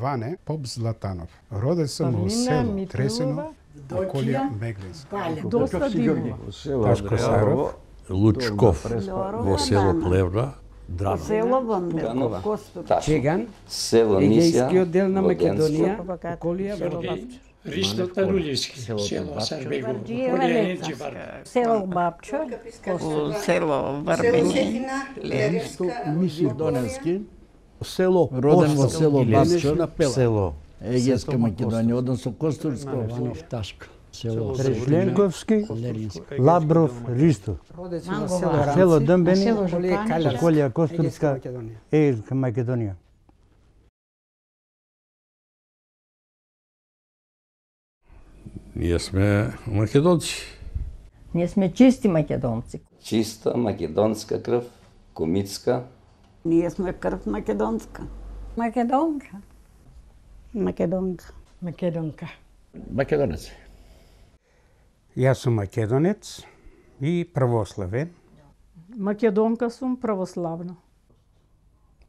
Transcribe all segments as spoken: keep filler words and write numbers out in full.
Ване Поп Златанов. Роден сум во село Тресино, околија Меглинска. Доста диво. Ташко Саров, Лучков, во село Плевна, Драна. Село Вандеркова. Чеган, село егејски Мисија, оддел на Македонија, Воденско. околија Велобапче. Ристо Рулевски, село Сарбегово, околија Енџибар. Село Бапчо, село Врбени, Левско, Мисир Доневски, село роден во село Бапчо, село Егејска Македонија, односно Костурско, Иванов Ташко, село Трежленковски, Лерински, Лабров, Ристо, Роден сум во село Ранци, село Дъмбени, околија Калјарска, околија Костурска, Македонија. Егејска Македонија. Ние сме македонци. Ние сме чисти македонци. Чиста македонска крв, комитска. Ние сме крв македонска. Македонка. Македонка. Македонка. Македонец. Јас сум македонец и православен. Македонка сум православна.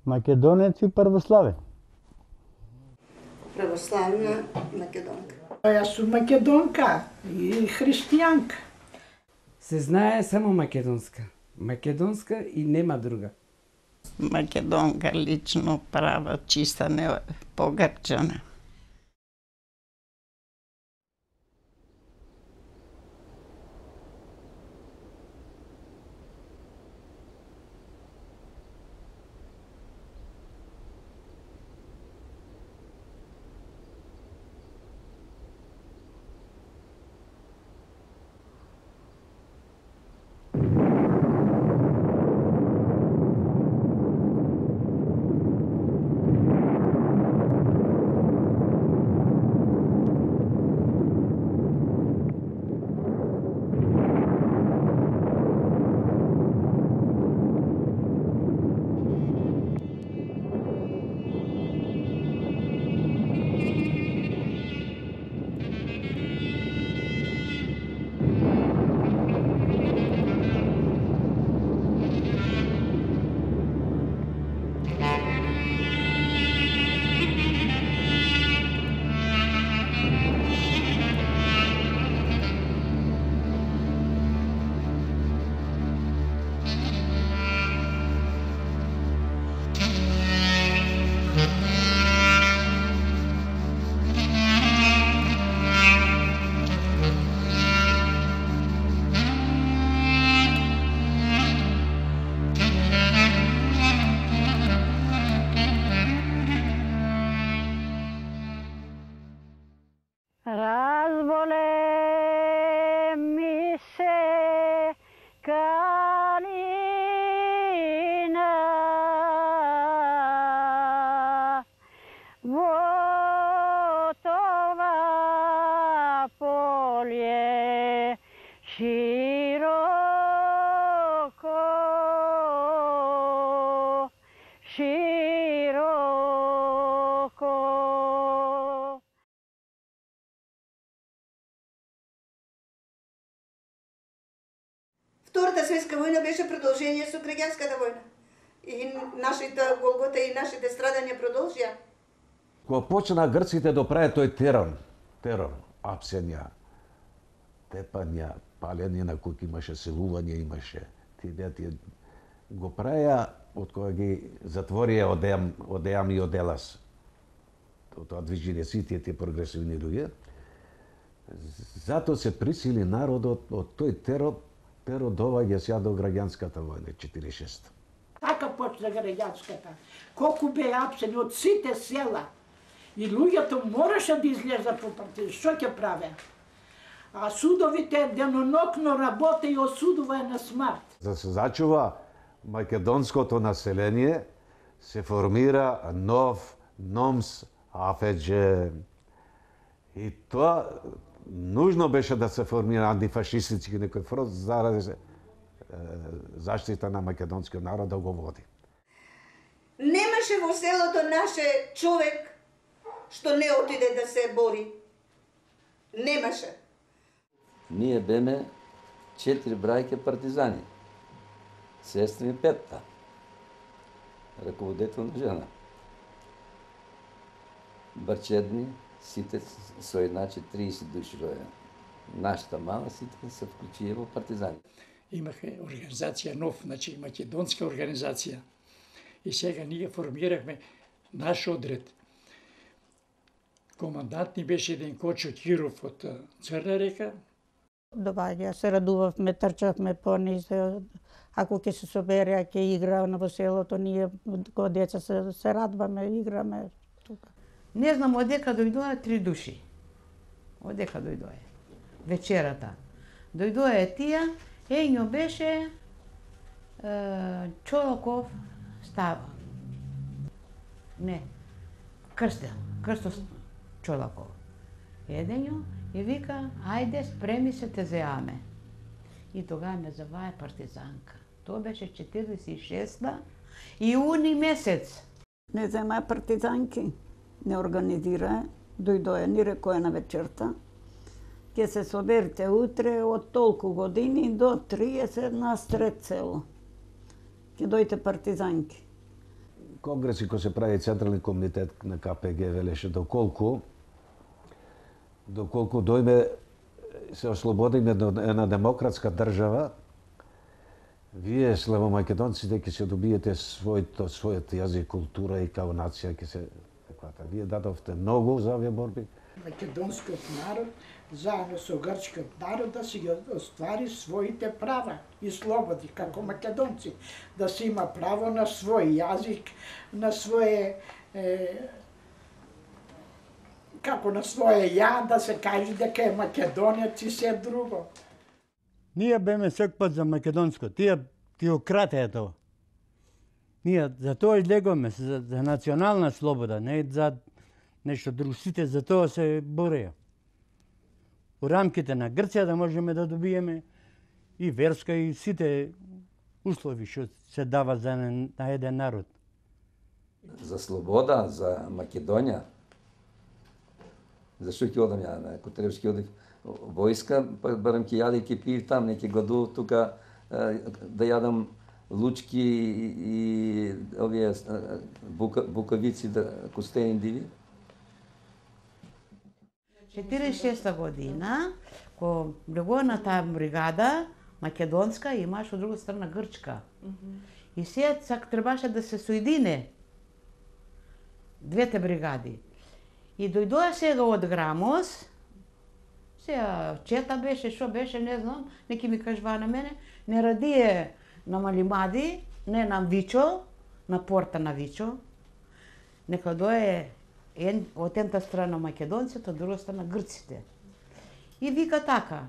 Македонец и православен. Православна македонка. Јас сум македонка и христијанка. Се знае само македонска. Македонска и нема друга. Македонка лично права, чиста, не погрчана. Разболе ми се калина во това поле широко, широко. Втората светска војна беше продолжение со граѓанската војна. И нашите голгота и нашите страдања продолжија. Кога почна грците да прават тој терор, терор, апсења, тепања, палење на куќи, имаше селување, имаше тие тие го праја од кога ги затворија Одеам, Одеам и Оделас. Тоа движење сите тие прогресивни луѓе. Затоа се присили народот од тој терор, терор доваѓа сега до граѓанската војна четиридесет и шеста. Така почна граѓанската. Колку беа апсени од сите села. И луѓето мораше да излезат по партија. Што ќе праве? А судовите денонокно работе и осудуваја на смрт. За да се зачува македонското население, се формира нов Номс Афеџе. И тоа нужно беше да се формира антифашистички некој фронт заради заштита на македонскиот народ да го води. Немаше во селото наше човек што не отиде да се бори. Немаше. Ние беме четири брајке партизани. Сестри и петта. Раководителна жена. Барчедни, сите со едначе триесет души роја. Нашата мала сите се вклучија во партизани. Имахме организација нов, значи македонска организација. И сега ние формирахме наш одред. Командант ни беше еден Кочо Киров од Црна река. Доваѓа, се радувавме, трчавме по низ. Ако ќе се собере, ќе игра на во селото, ние кога деца се, се радваме, играме тука. Не знам одека дојдоа три души. Одека дојдоа. Вечерата. Дојдоа тие, ењо беше е, Чолоков Става. Не, Крстел, Крсто Чолоков. Едењо и вика, ајде спреми се те зеаме. И тогава ме заваја партизанка. Тоа беше четиридесет и шеста иуни месец. Не зема партизанки, не организира, дојдоја, ни рекоја на вечерта. Ке се соберите утре од толку години до триесет на сред село. Ке дојте партизанки. Конгреси кој се прави Централни комитет на Ка Пе Ге велеше доколку доколку дојме се ослободиме од една демократска држава, вие славомакедонците ќе се добиете својот својот јазик, култура и као нација ќе се таквата. Вие дадовте многу за овие борби. Македонскиот народ заедно со грчкиот народ да си ги оствари своите права и слободи како македонци, да се има право на свој јазик, на свое е, како на своje ја, да се каже дека е македонец и се друго. Ние беме сек пат за македонско, тие ти ократеа тоа. Ние за тоа излегуваме, за, за национална слобода, не за нешто друго. Сите за тоа се бореа. У рамките на Грција да можеме да добиеме и верска и сите услови што се дава за на еден народ. За слобода, за Македонија. Зашто ќе одам ја, ако требаш ќе одив војска, па барам ќе јаде и ќе пиев там, не ќе гладу тука да јадам лучки и овие бука, букавици, да, костени диви. четиридесет и шеста година, кога влегува на таа бригада, македонска, имаш од друга страна грчка. Mm-hmm. И сега сак требаше да се соедине двете бригади. И дојдоа сега од Грамос, сега чета беше, што беше, не знам, неки ми кажува на мене, не радие на Малимади, не на Вичо, на порта на Вичо, нека дое ен, од едната страна македонците, од друга страна грците. И вика така,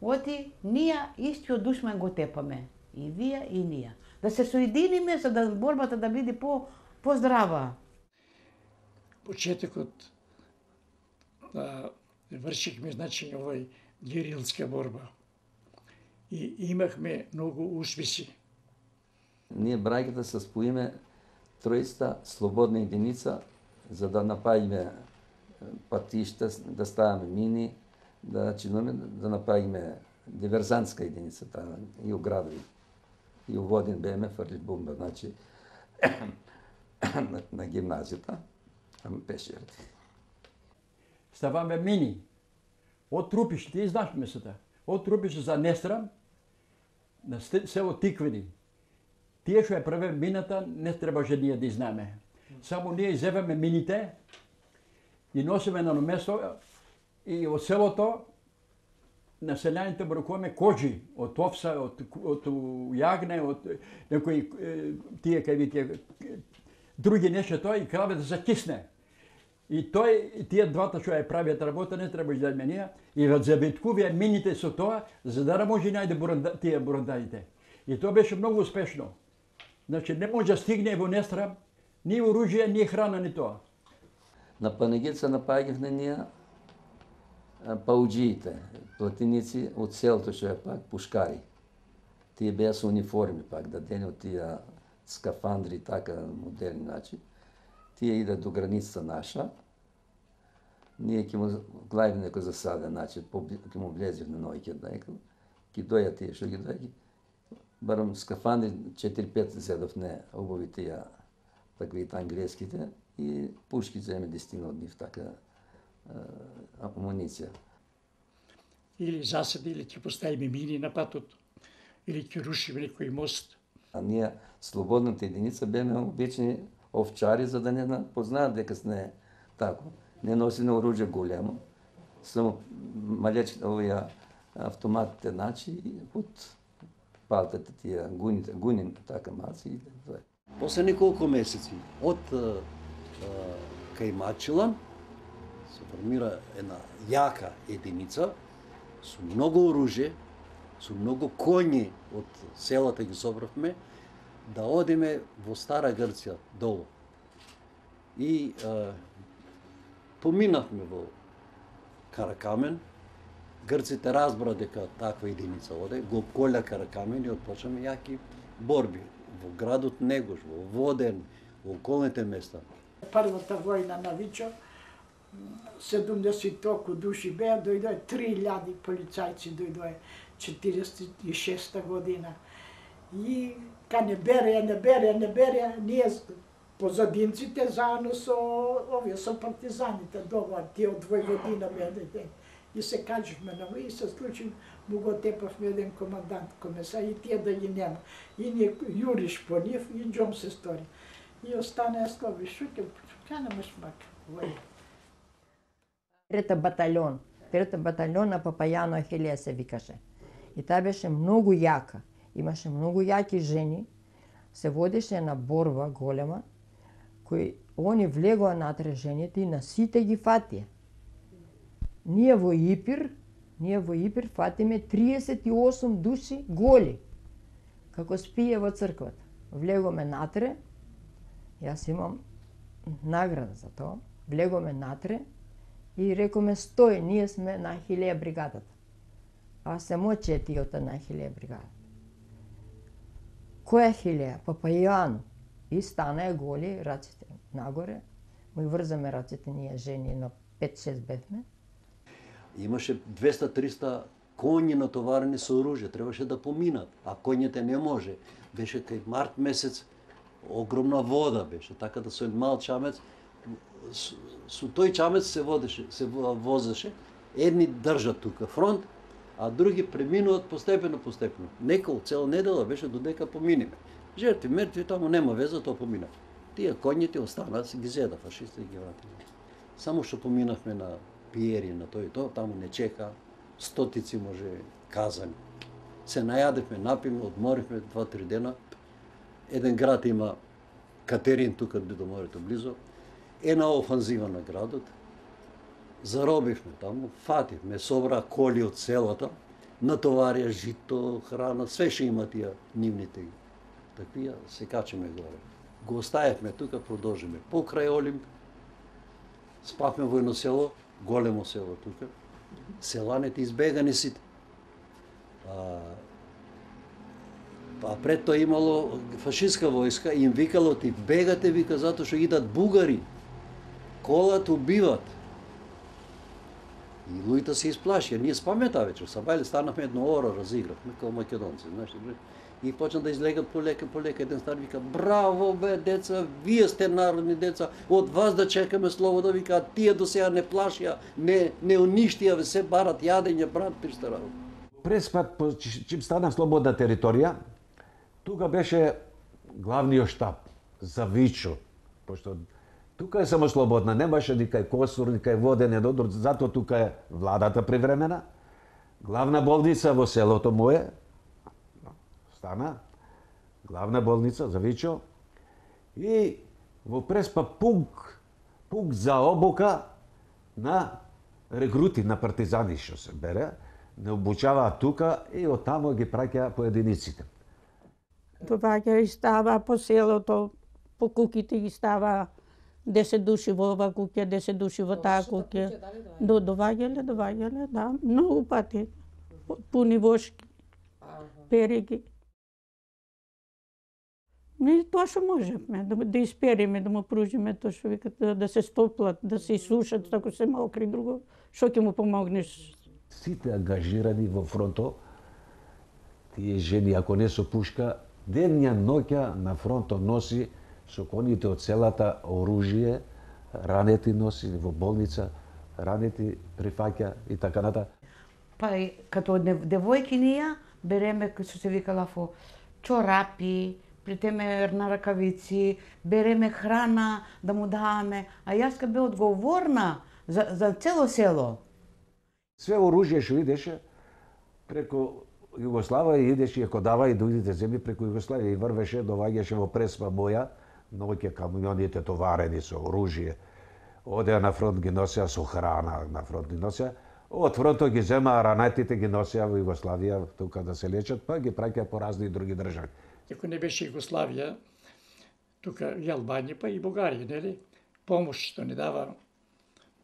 оти, ние истиот душман го тепаме, и вие и ние. Да се соединиме за да борбата да биде по поздрава. Почетокот да вршихме, значи, овој герилска борба. И имахме многу успеси. Ние браќата се споиме тројста слободна единица за да напаѓаме патишта, да ставаме мини, да чинаме, да напаѓаме диверзантска единица таа и у градови. И у Водин беме фрли бомба, значи на, на гимназијата. Пешерти. Ставаме мини. Од Трупиш, ти знаеш месата. Од Трупиш за Нестрам, на село Тиквени. Тие што ја праве мината, не требаше ние да изнаме. Само ние изеваме мините и носиме на место и од селото населјаните бракуваме кожи од овса, од, од јагне, од некои тие кај вие други нешто тоа и кравата се кисне. И тој, тие двата што ја правиат работа, не треба да менија, и во забиткувија мините со тоа, за да може најде буранда, тие бурандаите. И тоа беше многу успешно. Значи, не може да стигне во Нестрам ни оружје, ни храна, ни тоа. На Панегица напаѓавме ние пауџиите, платиници од селото што е пак пушкари. Тие беа со униформи пак, дадени од тие скафандри, така модерни начин. Тие идат до границата наша. Ние ќе му главиме некој засаден начин, ќе му влезев на ноги, ќе дојат тие што ги дојат. Барам скафандри четири пет зедов не обуви тие таквите англиските. и пушки земе десетина од нив, така амуниција. Или засади, или ќе поставиме мини на патот, или ќе рушиме некој мост. А ние, слободната единица, беме обични овчари, за да не познаат дека сме тако. Не носиме оружје големо, само малечки овие автоматите, значи, од палтата тие гуните, гунин, така маци. После неколку месеци од кај Мачилан се формира една јака единица со многу оружје, со многу коњи од селата ги собравме, да одиме во Стара Грција долу. И е, поминавме во Каракамен. Грците разбра дека таква единица оде, го обколя Каракамен и отпочнаме јаки борби во градот Негош, во Воден, во околните места. Првата војна на Вичо, седумдесет толку души беа, дојдоа три илјади полицајци, дојдоа четириесет и шеста година. И ка не бере, не бере, не бере, ние позадинците заедно со овие со партизаните долу, тие од Војводина беа. И се качихме на и се случи, му го тепавме еден командант комеса и тие да ги нема. И ние јуриш по нив и џом се стори. И остане слови шуке, канаме шмак. Трета батальон, трета батальон на Папајано Ахилија се викаше. И таа беше многу јака. Имаше многу јаки жени. Се водеше една борба голема, кој они влегоа натре жените и на сите ги фатија. Ние во Ипир, ние во Ипир фатиме триесет и осум души голи, како спие во црквата. Влегоме натре, јас имам награда за тоа, влегоме натре и рекоме стој, ние сме на Ахилија бригадата. А се моче тиото на Ахилија бригада. Која Ахилија? Папајано. И стана е голи, раците нагоре, му врзаме раците ние жени, на пет-шест бевме. Имаше двеста-триста коњи натоварени со оружје, требаше да поминат, а коњите не може. Беше кај март месец, огромна вода беше, така да со еден мал чамец, со, со тој чамец се водеше, се возеше, едни држат тука фронт, а други преминуват постепено, постепено. Неколку цела недела беше додека поминиме. Жертви, мертви, таму нема веза, тоа помина. Тие коњите останаа, се ги зеда фашисти и ги вратиле. Само што поминавме на пиери, на тој и тоа, таму не чека, стотици може казани. Се најадевме, напиме, одморивме два-три дена. Еден град има Катерин, тука до морето близо, една офанзива на градот. Заробивме таму, фативме, собра коли од селата, натоварија жито, храна, све што има тие нивните. Таквија се качиме горе. Го оставивме тука, продолжиме покрај Олимп, спавме во едно село, големо село тука. Селаните избегани сите. А, а пред тоа имало фашистска војска и им викало ти бегате, вика, затоа што идат бугари. Колат убиват. И луѓето се исплашија. Ние спаме таа вечер, сабајле станавме едно оро, разигравме како македонци, знаеш. И почна да излегат полека, полека. Еден стар вика, браво бе, деца, вие сте народни деца, од вас да чекаме слобода, вика, а тие до сега не плашија, не, не уништија, ве се барат јадење, брат, пишта работа. Преспат, чим стана слободна територија, тука беше главниот штаб за Вичо, пошто тука е само слободна, немаше ни кај Косур, ни кај Воден, Додор, затоа тука е владата привремена. Главна болница во селото мое, стана, главна болница за Вичо, и во Преспа пункт, пункт за обука на рекрути, на партизани што се бере, не обучаваа тука и оттамо ги праќаа по единиците. Доаѓа и става по селото, по куќите ги става десет души во ова куќа, десет души во таа куќа. До доваѓале, доваѓале, да, многу пати. Пуни вошки, периги. Не тоа што можевме, да, да испериме, да му пружиме тоа што викат, да, да се стоплат, да се исушат, ако се мокри, друго, што ќе му помогнеш? Сите ангажирани во фронто, тие жени, ако не со пушка, денја, ноќа на фронто носи со коњите од селата оружје, ранети носи во болница, ранети прифаќа и така натаму. Па като девојки ние береме, што се викала фо чорапи, плетеме на ракавици, береме храна да му даваме, а јас ка бе одговорна за, за цело село. Све оружје што идеше преку Југославија идеше, ако дава и дојдите земји преку Југославија и врвеше, доваѓаше во Преспа моја, ноќе камионите товарени со оружје. Одеа на фронт ги носеа со храна, на фронт ги носеа. Од фронтот ги земаа ранетите, ги носеа во Југославија тука да се лечат, па ги праќаа по разни други држави. Ако не беше Југославија, тука и Албанија, па и Бугарија, нели? Помош што ни дава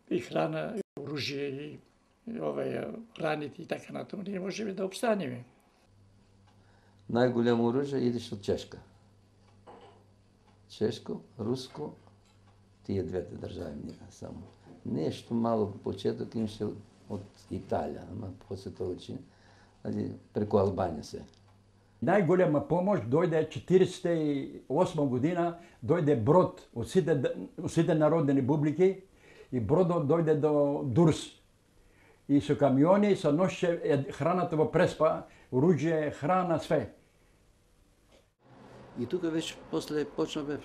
и храна, и оружје, и овај раните и така натаму, ние можеме да обстанеме. Најголемо оружје идеш од Чешка. Чешко, Руско, тие двете држави ние само. Нешто мало почеток имаше од Италија, ама после тоа учи, али преку Албанија се. Најголема помош дојде четиридесет и осма година, дојде брод од сите, сите народни републики и бродот дојде до Дурс. И со камиони се ноше храната во Преспа, оружје, храна, све. И тука веќе после почнавме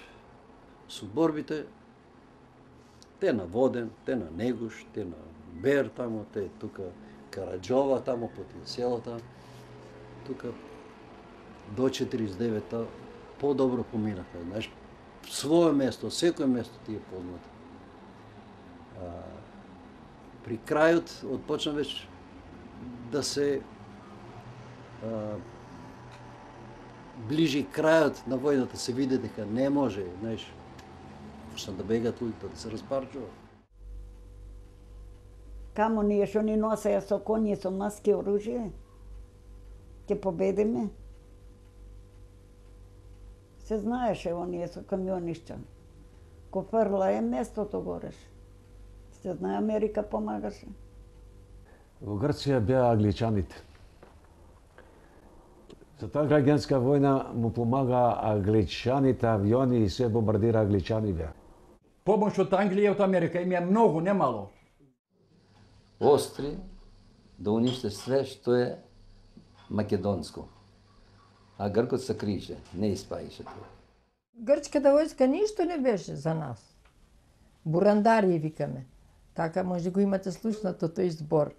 со борбите, те на Воден, те на Негуш, те на Бер тамо, те тука Караџова тамо по тие селата. Тука до четиридесет и девета подобро поминаха. Знаеш, свое место, секој место тие полнато. При крајот отпочна веќе да се а, ближи крајот на војната, се види дека не може, знаеш, почна да бегат луѓето, да се распарчува. Камо ние што ни носеја со коњи, со маски, оружје, ќе победиме. Се знаеше оние со камионишта. Ко фрла е местото гореш. Се знае, Америка помагаше. Во Грција беа англичаните. За таа граѓанска војна му помага англичаните, авиони и се бомбардира англичани беа. Помош од Англија и од Америка им е многу, не мало. Остри да униште све што е македонско. А гркот се крише, не испаише тоа. Грчката војска ништо не беше за нас. Бурандари викаме. Така може го имате слушнато тој збор.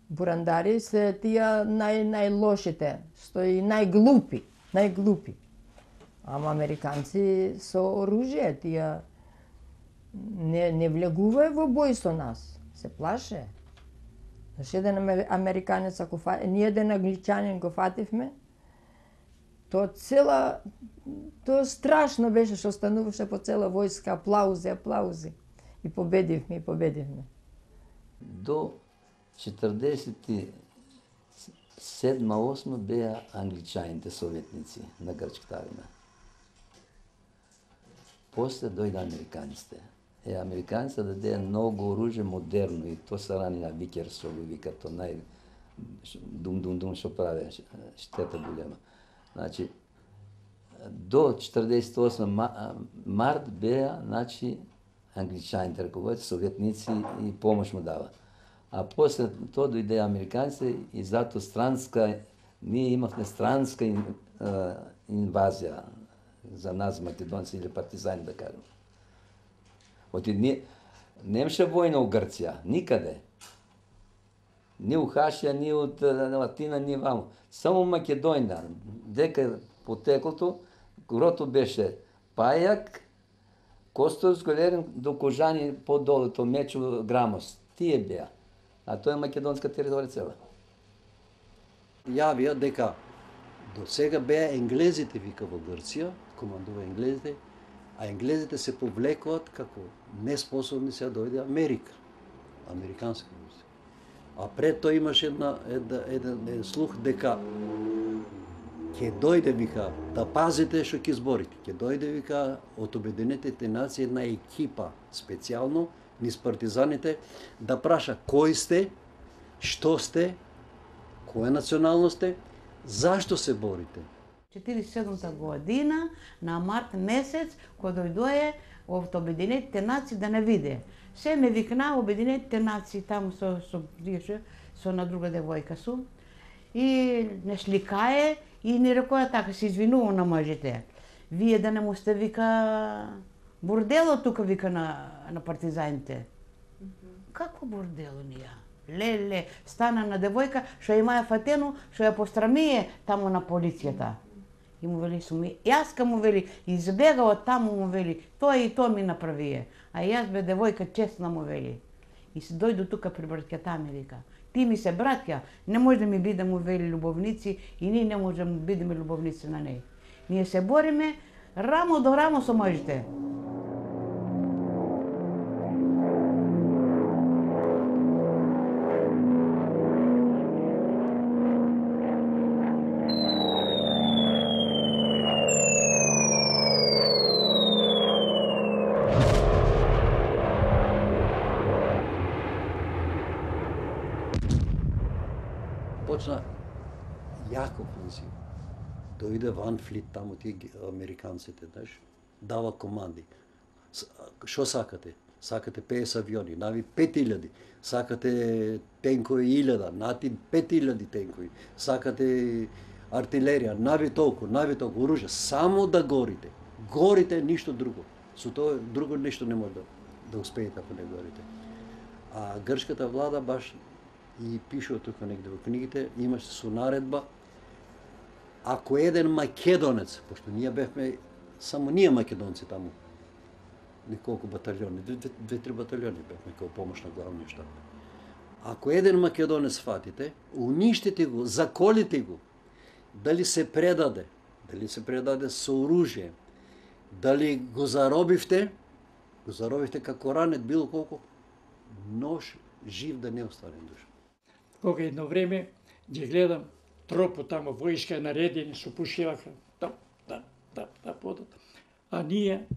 Бурандари се тие нај најлошите, што и најглупи, најглупи. Ама американци со оружје тие не не влегува во бој со нас, се плаше. Зашто еден американец ако фа... ние еден англичанин го фативме, тоа цела тоа страшно беше што стануваше по цела војска, аплаузи, аплаузи. И победивме, и победивме. До четрдесет и седма осма беа англичаните советници на грчката армија. После дојде американците. Е, американците дадеа многу оружје модерно и то се рани на Викерсол, вика то нај дум-дум-дум што прави, штета голема. Значи, до четрдесет и осма март беа, значи, англичаните раководите, советници и помош му дава. А после тоа дојде американците и зато странска, ние имавме странска инвазија за нас, македонци или партизани, да кажем. Оти не, немаше војна у Грција, никаде. Ни у Хашија, ни од Латина, ни ваму. Само Македонија, дека потеклото, грото беше Пајак, Костос, Голерин, до Кожани, подолу, то Мечо, Грамос. Тие беа. А тоа е македонска територија цела. Јавија дека до сега беа енглезите, вика, во Грција, командува енглезите, а енглезите се повлекуваат како неспособни се да дојде Америка, американска войска. А пред тоа имаше една, една, еден, еден слух дека ќе дојде, вика, да пазите што ќе зборите. Ќе дојде, вика, од Обединетите нации една екипа специјално низ партизаните да праша кои сте, што сте, која националност сте, зашто се борите. четиридесет и седумта година, на март месец, кога дојдое од Обединетите нации да не виде. Се ме викна Обединетите нации, таму со, со, со, со на друга девојка сум. И не шликае и ни рекоја така, се извинува на мажите. Вие да не му сте вика бордело тука вика на, на партизаните. Mm-hmm. Како бордело ние? Леле, стана на девојка, што имаја фатено, што ја пострамие таму на полицијата. И му вели суми, јаска му вели, избега од таму му вели, тоа и тоа ми направие. А јас бе девојка честна му вели. И се дојду тука при браќата ми вика. Ти ми се браќа, не може да ми биде му вели љубовници и ние не можеме да бидеме љубовници на неј. Ние се бориме рамо до рамо со мажите. Почна јако офензив. Дојде Ван Флит таму, тие американците, знаеш, дава команди. Што сакате? Сакате петдесет авиони, нави пет илјади. Сакате тенкови илјада, нати пет илјади тенкови. Сакате артилерија, нави толку, нави толку оружје, само да горите. Горите, ништо друго. Со тоа друго нешто не може да, да успеете ако не горите. А грчката влада баш и пишува тука негде во книгите, имаше со наредба, ако еден македонец, пошто ние бевме, само ние македонци таму, неколку батальони, две-три батальони бевме као помош на главниот штаб. Ако еден македонец фатите, уништите го, заколите го, дали се предаде, дали се предаде со оружје, дали го заробивте, го заробивте како ранет, било колку, нож жив да не остане душа. Кога едно време ги гледам тропо тамо, војска наредени, со пушеваха, тап, тап, тап, тап, подат. А ние,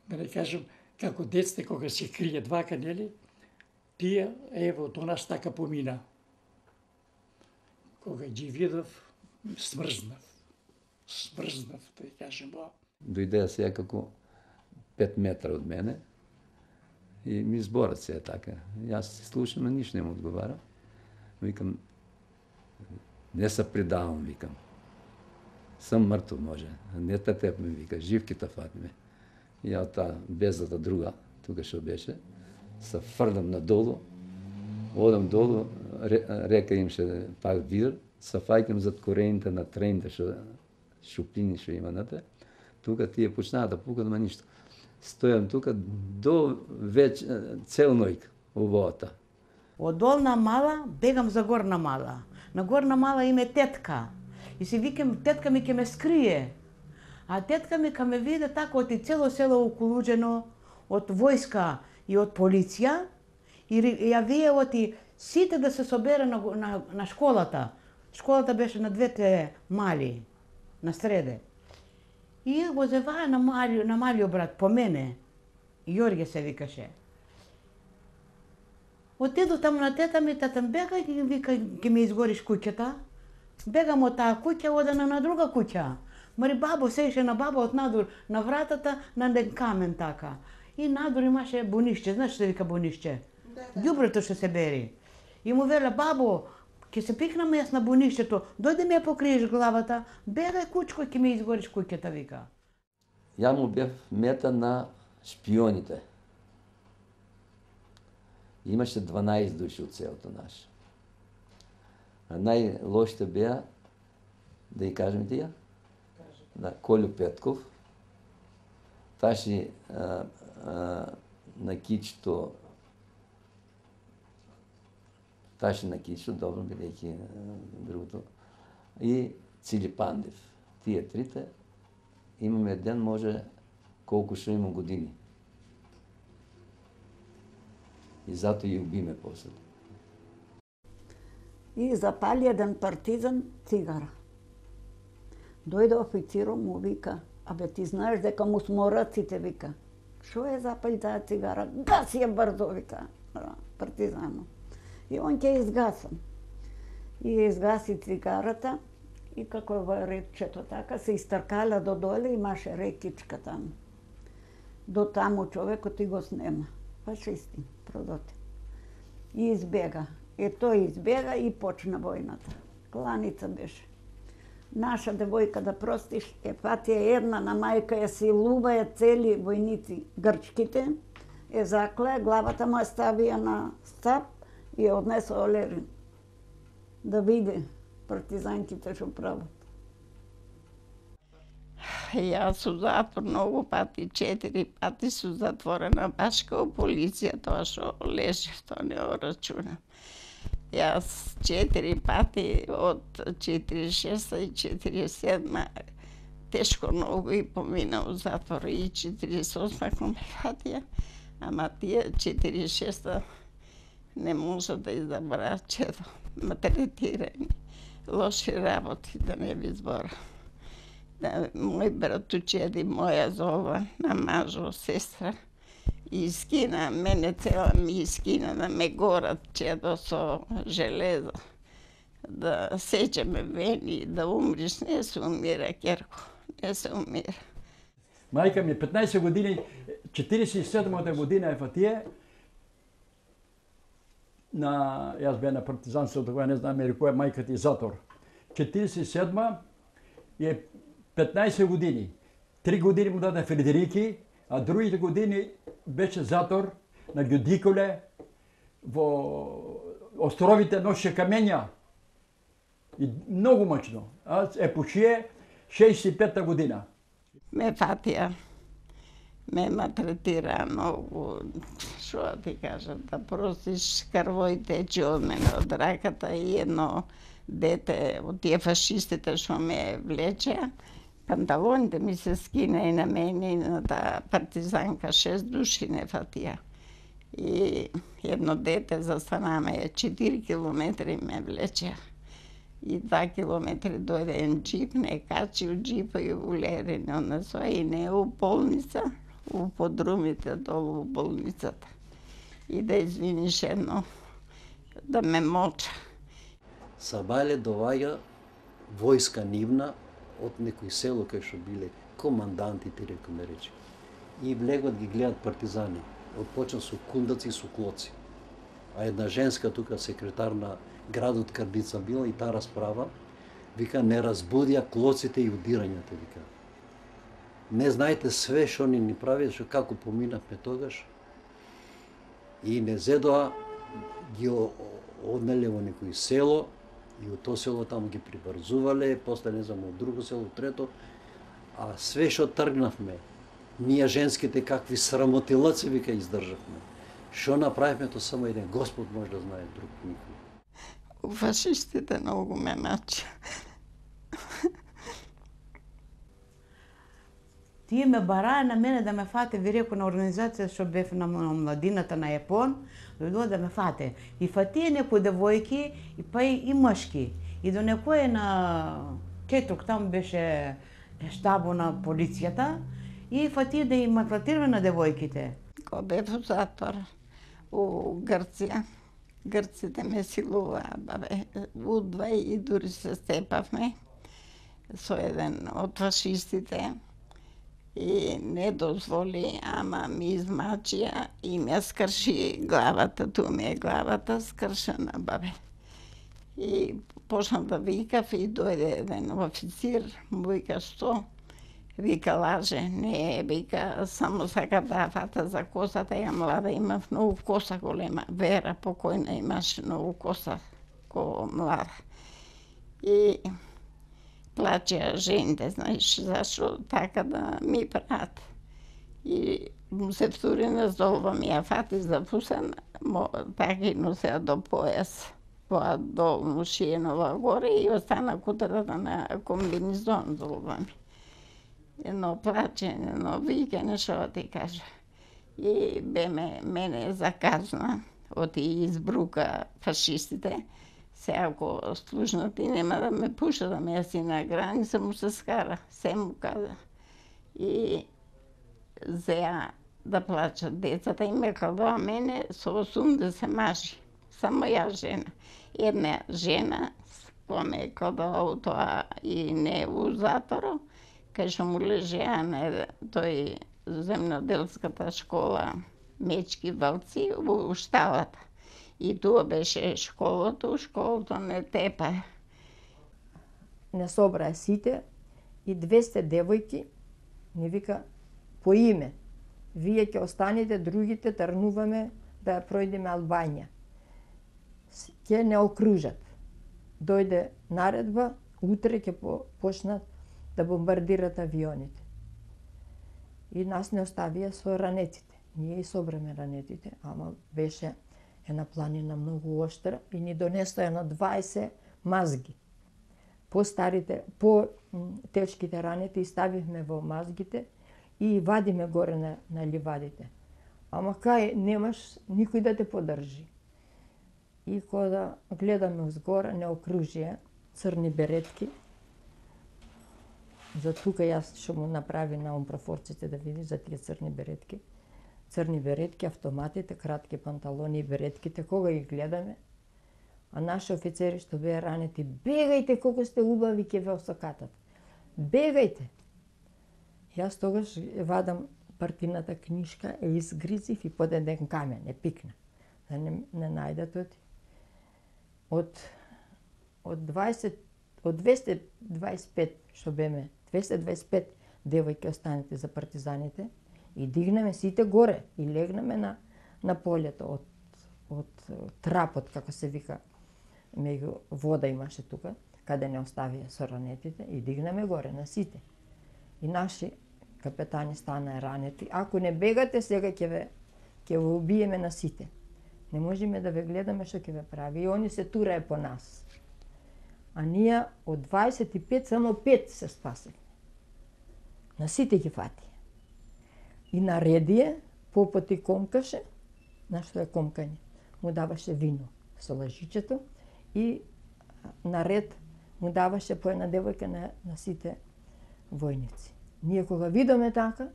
да не кажем, како децте, кога се кријат вака, нели, тие, ево, до нас така помина. Кога ги видов, смрзнав. Смрзнав, да кажем, ба. Дојдеа се како пет метра од мене и ми зборат се така. Јас се слушам, но ништо не му одговарам. Викам, не се предавам, викам. Сам мртов може. Не та теб ми вика, жив ки та фатиме. И ја таа безата друга, тука што беше, се фрлам надолу, одам долу, река имаше пак вир, се фаќам зад корените на трените што шупини што има нате. Тука тие почнаа да пукат, ма ништо. Стојам тука до веќе цел ноќ во водата. Од долна мала бегам за горна мала. На горна мала име тетка. И си викам, тетка ми ќе ме скрие. А тетка ми ка ме виде така од и цело село околуđено од војска и од полиција. И ја вие оти сите да се собере на, на, на школата. Школата беше на двете мали, на среде. И го зеваа на малио, на малио брат, по мене. Јорге се викаше. Отиду таму на тета ми, тата бега и вика, ќе ми изгориш куќата. Бегам од таа куќа, одена на друга куќа. Мари бабо сееше на баба од надвор, на вратата, на еден камен така. И надвор имаше бунишче, знаеш што вика бунишче? Ѓубрето што се бери. И му веле, бабо, ќе се пикнам јас на бунишчето, дојде ми ја покриеш главата, бегај кучко, ќе ми изгориш куќата, вика. Ја му бев мета на шпионите. Имаше дванаесет души од селото наше. А најлошите беа, да ја кажем тие, на Колју Петков, Таши а, а, на Кичто, Таши на Кичто, добро бидејќи другото, и Цили Пандев. Тие трите, имаме ден, може колку што има години. И зато ја убиме после. И запали еден партизан цигара. Дојде официром, му вика, абе ти знаеш дека му смораците, вика. Шо е запали таа цигара? Гаси ја брзо, вика, партизано. И он ќе изгасам. И ја изгаси цигарата И како во рекчето така, се истркала до доле, имаше рекичка таму. До таму човекот и го снема. Фашисти, продоти. И избега. И тој избега и почна војната. Кланица беше. Наша девојка, да простиш, е Фатија една на мајка ја силува ја цели војници грчките, е закле, главата му ја ставија на стап и ја однесе Олерин. Да види партизанките што прават. Јас су затвор многу пати, четири пати су затворена, баш као полиција, тоа што лежи, тоа не го рачунам. Јас четири пати од четириесет и шеста и четириесет и седма тешко многу и помина у затвор и четириесет и осма кон Фатија, ама тие четириесет и шеста не може да изабраат чедо, малтретирани, лоши работи, да не ви збора. Да, мој братучеди, моја зова, на мажо, сестра, и скина, мене цела ми скина да ме горат чедо со железо. Да сечеме вени, да умриш, не се умира, Керко, не се умира. Мајка ми петнаесет години, четириесет и седмата година е Фатија, на, јас бе на партизанството, кога не знам или која мајка ти затвор. четириесет и седма е петнаесет години. Три години му даде Фредерики, а другите години беше затвор на Ѓудиколе, во островите ноше камења. И многу мачно. А е почие шеесет и пета година. Ме Фатија ме малтретира многу, што да ти кажам, да простиш, крвој тече од мене, од раката и едно дете од тие фашистите што ме влечеа, панталоните ми се скина и на мене и на таа партизанка, шест души не Фатија. И едно дете застанаме, четири километри ме влечеа. И два километри дојде еден джип, не качи у джипа и улери не однесоа и не у болница, у подрумите долу у болницата. И да извиниш едно, да ме моча. Сабајле доваѓа војска нивна од некој село кај што биле команданти, ти рекоме речи. И влегот ги гледат партизани. Отпочна со кундаци и со клоци. А една женска тука секретар на градот Кардица била и таа расправа, вика, не разбудија клоците и удирањата, вика. Не знаете све што ни ни прави, што како поминавме тогаш. И не зедоа, ги однеле во некој село, и од тоа село таму ги прибрзувале, после не знам од друго село, трето, а све што тргнавме, ние женските какви срамотилаци вика издржавме. Што направивме, тоа само еден Господ може да знае, друг никој. Фашистите многу ме мача. Тие ме бараа на мене да ме фате, ви реко на организација што бев на младината на Јапон, дојдоа да ме фате. И фатија некои девојки, и па и, и мъжки. И до некој на Четрук, там беше штабо на полицијата, и фатија да им малтретираме на девојките. Кога бев во затвор у Грција, грците ме силуваа, бабе, удва и дури се степавме со еден од фашистите и не дозволи, ама ми измачија и ме скрши главата, ту ми е главата скршена, бабе. И почнав да викав и дојде еден официр, му вика, што? Вика, лаже, не, вика, само сака да фата за косата, ја млада, имав многу коса голема, Вера покојна имаше многу коса, ко млада. И плачеа жените, знаеш, зашо така да ми прават. И му се втури на золба, ми ја фати за фусен, така и носеа до појас, во долну шиенова горе и остана кутрата на комбинизон золба ми. Едно плачење, едно викање, што да ти кажа. И бе ме, мене заказна, оти избрука фашистите. Се ако служнати нема да ме пуша, да ме јаси на граница, му се скара, се му каза. И зеа да плачат децата и ме кладоа мене со осумдесет мажи. Само ја жена. Една жена помеко до аутоа и не у затвору, кај што му лежеа на тој земноделската школа Мечки Валци во шталата. И тоа беше школото, школото не тепа. Не собраа сите и двесте девојки ни вика по име. Вие ќе останете, другите тргнуваме да ја пројдеме Албанија. Ќе не окружат. Дојде наредба, утре ќе почнат да бомбардират авионите. И нас не оставија со ранетите. Ние и собреме ранетите, ама беше една планина многу оштра и ни донесоа на дваесет мазги. По старите, по тешките ранети ставивме во мазгите и вадиме горе на, на ливадите. Ама кај немаш никој да те подржи. И кога гледаме узгора, не окружие, црни беретки. За тука јас што му направи на умпрафорците да види за тие црни беретки. Црни беретки, автоматите, кратки панталони и беретките, кога ги гледаме, а наши офицери што беа ранети, бегајте колку сте убави, ќе ве осакатат. Бегајте! Јас тогаш вадам партината книжка, е изгризив и под еден камен, е пикна. Да не, не најдат оти. Од, од, дваесет, од двесте дваесет и пет, што беме, двесте дваесет и пет девојки останете за партизаните, и дигнеме сите горе и легнеме на, на полето од, од трапот, како се вика, меѓу вода имаше тука, каде не оставија со ранетите, и дигнеме горе на сите. И наши капетани стана ранети. Ако не бегате, сега ќе ве, ќе ве убиеме на сите. Не можеме да ве гледаме што ќе ве прави. И они се турае по нас. А ние од дваесет и пет, само пет се спасивме. На сите ги фати. И наредие, попоти комкаше, на што е комкање, му даваше вино со лажичето и наред му даваше по една девојка на, на сите војници. Ние кога видиме така,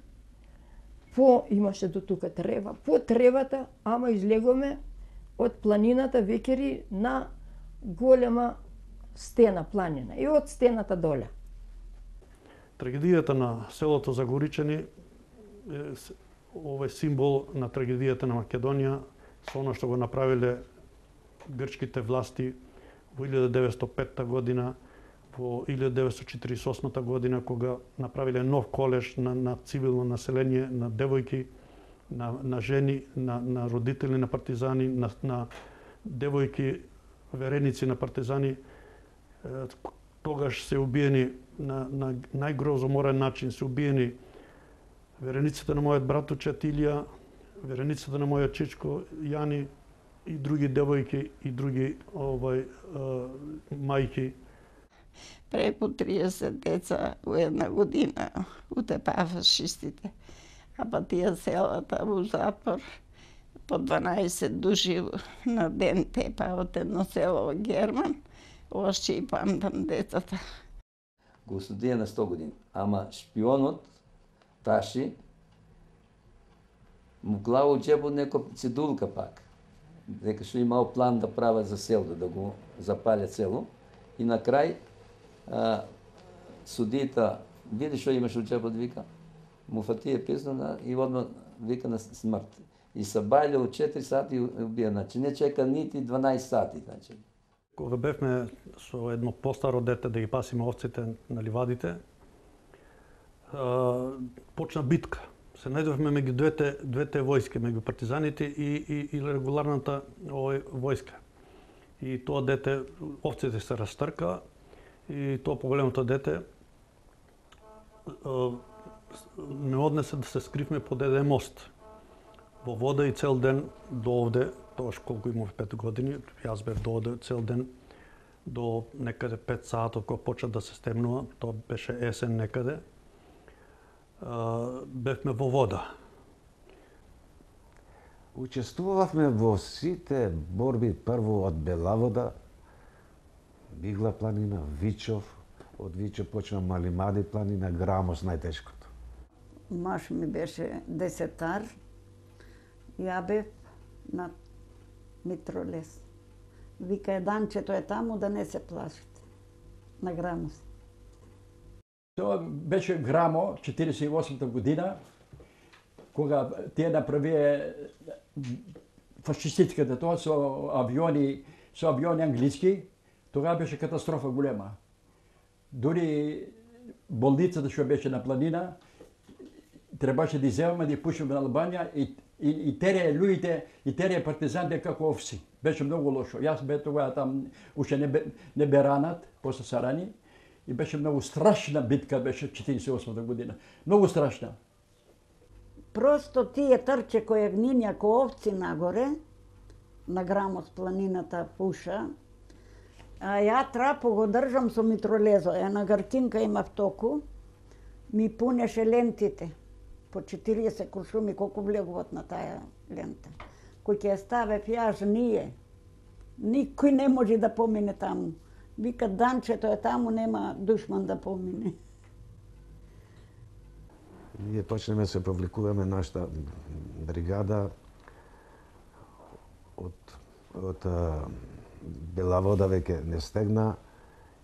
по имаше до тука трева, по тревата, ама излегоме од планината векери на голема стена планина и од стената доле. Трагедијата на селото Загоричани е овој символ на трагедијата на Македонија со оно што го направиле грчките власти во илјада деветстотини и петта година, во илјада деветстотини четиридесет и осма година, кога направиле нов колеж на, на цивилно население, на девојки, на, на жени, на, на родители на партизани, на, на девојки, вереници на партизани. Тогаш се убиени на, на најгрозоморен начин, се убиени верениците на мојот братучет Илија, верениците на мојот чичко Јани и други девојки и други овај мајки. Преку триесет деца у една година утепаа фашистите, а па тие селата во затвор по дванаесет души на ден тепа од едно село во Герман, оште и памтам децата. Го студија на сто години, ама шпионот Таши му глава у џебот некоја цедулка пак, дека што имал план да прават за селото, да го запалят село. И на крај а, судијата види што имаш у џебот, вика, му фатија писна и одма вика на смрт. И се бајле у четири сати и убија, значи не чека нити дванаесет сати, значи. Кога бевме со едно постаро дете да ги пасиме овците на ливадите, а, почна битка. Се најдовме меѓу двете, двете војски, меѓу партизаните и, и, и регуларната овој, војска. И тоа дете, овците се растрка и тоа поголемото дете а, ме однесе да се скривме под еден мост во вода и цел ден до овде, тоаш колку имав пет години, јас бев до овде цел ден до некаде пет саат кога почна да се стемнува, тоа беше есен некаде. Uh, бевме во вода. Учествувавме во сите борби, прво од Белавода, Бигла планина, Вичов, од Вичов почна Малимади планина, Грамос најтешкото. Маш ми беше десетар, ја бев на Митролес. Вика, Данчето е таму, да не се плашите. на Грамос. Тоа беше Грамо, четиридесет и осмата година, кога тие направија фашистичката тоа со авиони, со авиони англиски, тогава беше катастрофа голема. Дури болницата што беше на планина, требаше да изземаме, да ја пушиме на Албанија и, и, и терија луѓите, и терија партизаните како овци. Беше многу лошо. Јас бе тогава там, уште не бе, не бе ранат, после Сарани, и беше многу страшна битка, беше четиридесет и осмата година. Многу страшна. Просто тие трче кои гнинја ко овци нагоре, на Грамос планината пуша, а ја трапо го држам со митролезо. Една гркинка има в току, ми пунеше лентите. По четиридесет куршуми, колку влегуват на тая лента. Кој ќе ја ставев јас ние, никој не може да помине таму. Вика, данчето е таму, нема душман да помине. Ние почнеме се повлекуваме нашата бригада од, од Бела Вода веќе не стегна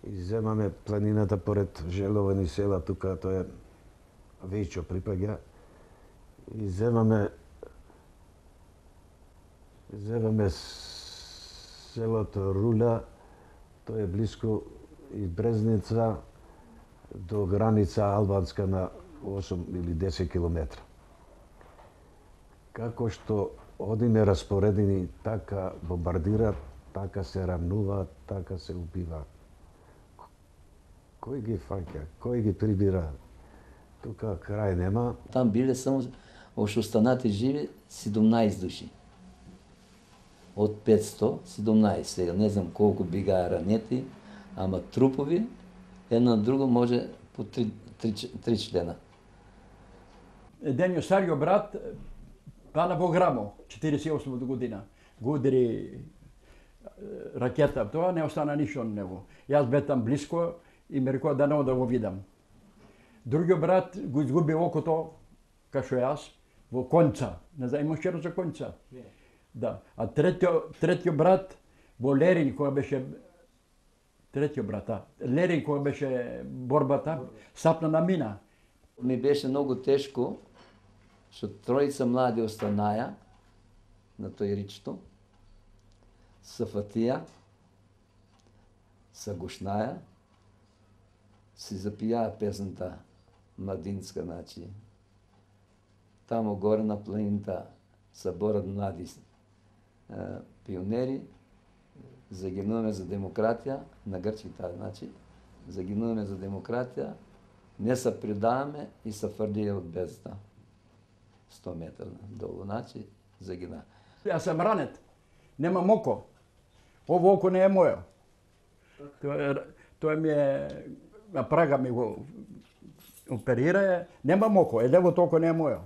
и земаме планината поред Желовани села, тука тоа е Вејчо припаѓа, и земаме земаме селото Руля, тоа е близко и Брезница до граница албанска на осум или десет километра. Како што одиме распоредени, така бомбардираат, така се рамнуваат, така се убиваат. Кој ги фаќа, кој ги прибира? Тука крај нема. Там биле само уште останати живи седумнаесет души. Од петсто, седумнаесет. Не знам колку бигаа ранети, ама трупови, едно на друго може по три, три, три члена. Еден стариот брат пана во Грамо, четиридесет и осма година. Го удари ракета, тоа не остана ништо на него. Јас бе там близко и ме рекоа да не да го видам. Другиот брат го изгуби окото, кашо јас, во конца. Не знам, имаш черно за конца. Да. А третиот, третиот брат во Лерин, кога беше третиот брат, а, Лерин кога беше борбата, сапна на мина. Ми беше многу тешко, што тројца млади останаја на тој ричто, се фатија, се гушнаја, си запијаа песната младинска, значи. Тамо горе на планината се борат млади е, пионери, загинуваме за демократија, на грчките, значи, загинуваме за демократија, не се предаваме и се фрлија од бездна. сто метра долу, значи, загина. Јас сам ранет, немам око. Ово око не е моје. Тоа, тоа ми е, на Прага ми го оперира, немам око, е левото око не е моје.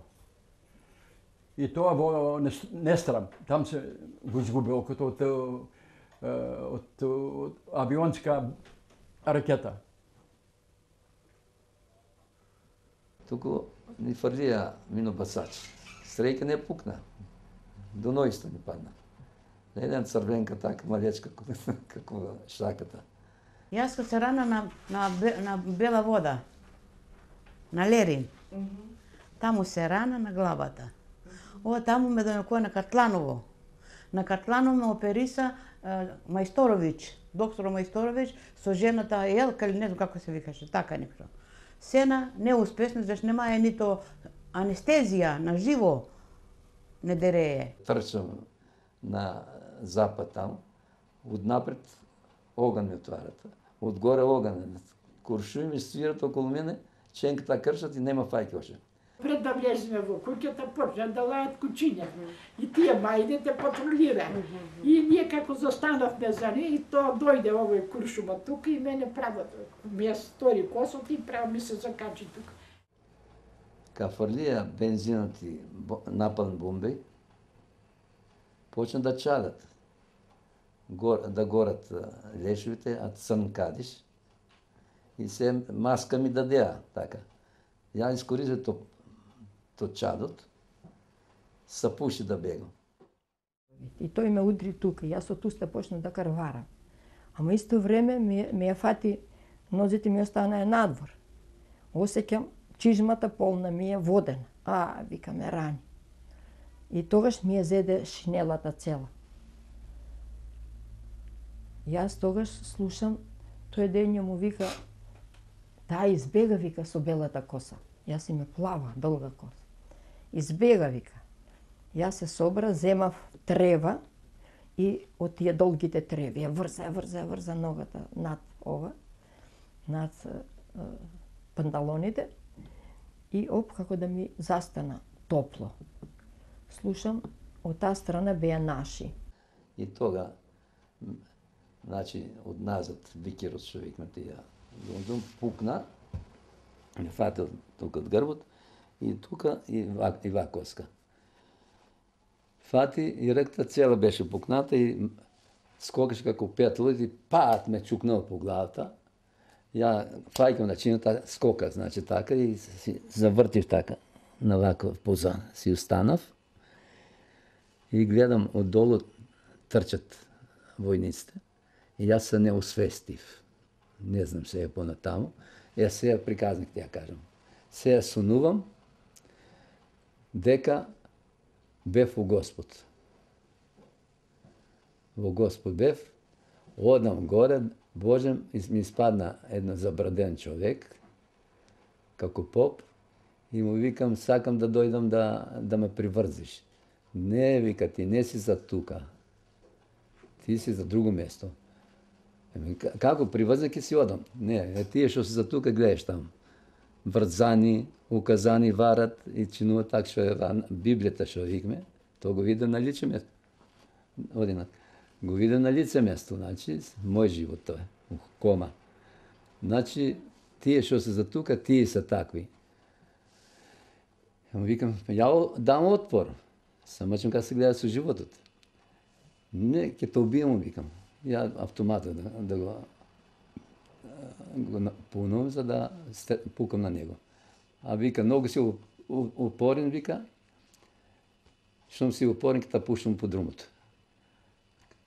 И тоа во Нестрам, там се го изгуби окото од, од, од авионска ракета. Туку ни фрлија минобасач. Стрелка не пукна. До нојсто ни падна. Еден црвенка така малечка како шаката. Јас се рана на, на, на Бела Вода, на Лерин. Mm-hmm. Таму се рана на главата. Ова таму ме донекоја на Катланово. На Катланово ме опериса е, Мајсторовиќ, доктор Мајсторовиќ, со жената Елка, или не знам како се викаше, така некто. Сена неуспешно, зашто немаја нито анестезија на живо не дерее. Трчам на запад таму, однапред оган ми отварат. Одгоре оган, куршуми ми свират околу мене, ченката кршат и нема фајки още. Пред да влеземе во куќата, почна да лајат кучиња. И тие мајдите патрулира. И ние како застанавме за не, и тоа дојде овој куршума тука и мене право, ми ја стори косот и право ми се закачи тука. Ка фрлија бензинот и напален бомбеј, почна да чадат. Гор, да горат лешовите, а црн кадиш. И се маска ми дадеа, така. Ја искористив то, то чадот, се пуши да бегам. И тој ме удри тука, јас од уста почнав да карварам. Ама исто време ме, ме ја фати нозите ми останаа надвор. Осеќам чижмата полна ми е водена. А, вика, ме рани. И тогаш ми ја зеде шинелата цела. Јас тогаш слушам, тој дење му вика, да, избега, вика, со белата коса. Јас име плава, долга коса. Избега, вика. Јас се собра, земав трева и од тие долгите треви ја врза, ја врза, ја врза ногата над ова, над е, панталоните и оп, како да ми застана топло. Слушам, од таа страна беа наши. И тога, значи, од назад, викерот што викме тие, дум пукна, не фатил тука од грбот, и тука и ва, и ва коска. Фати и ректа цела беше пукната и скокаше како петло и паат ме чукнал по главата. Ја фајкам на чината, скока, значи така, и си завртив така, на вако поза си останав. И гледам оддолу трчат војниците. И јас се не освестив. Не знам се е понатаму. Јас сега приказник ти ја кажам. Сега сонувам дека бев во Господ. Во Господ бев, одам горе, Божем, и ми испадна едно забраден човек, како поп, и му викам, сакам да дојдам да, да ме приврзиш. Не, вика, ти не си за тука. Ти си за друго место. Еми, како приврза ќе си одам? Не, е тие што се за тука гледаш таму. Врзани, указани варат и чинуваат така што е Библијата што викме, тоа го видам на лице место. Одинак. Го видам на лице место, значи, мој живот тоа е, у кома. Значи, тие што се за тука, тие се такви. Му викам, ја дам отпор, само че како се гледа со животот. Не, ќе те убијам, му викам. Ја автоматот да, да го, го пунувам за да пукам на него. А вика, многу си упорен, вика, штом си упорен, ќе те пуштам по друмото.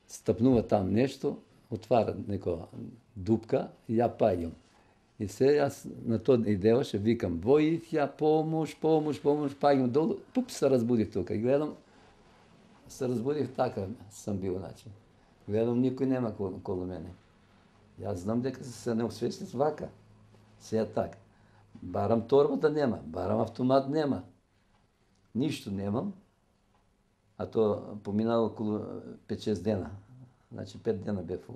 Стапнува там нешто, отвара некоја дупка и ја паѓам. И се јас на тоа идеаше, викам, војих ја, помош, помош, помош, паѓам долу, пуп, се разбудих тука и гледам, се разбудих така сам бил, значи. Гледам, никој нема околу мене. Јас знам дека се не освестив вака. Се е така. Барам торбата нема, барам автомат нема. Ништо немам. А тоа поминава околу пет-шест дена. Значи пет дена бев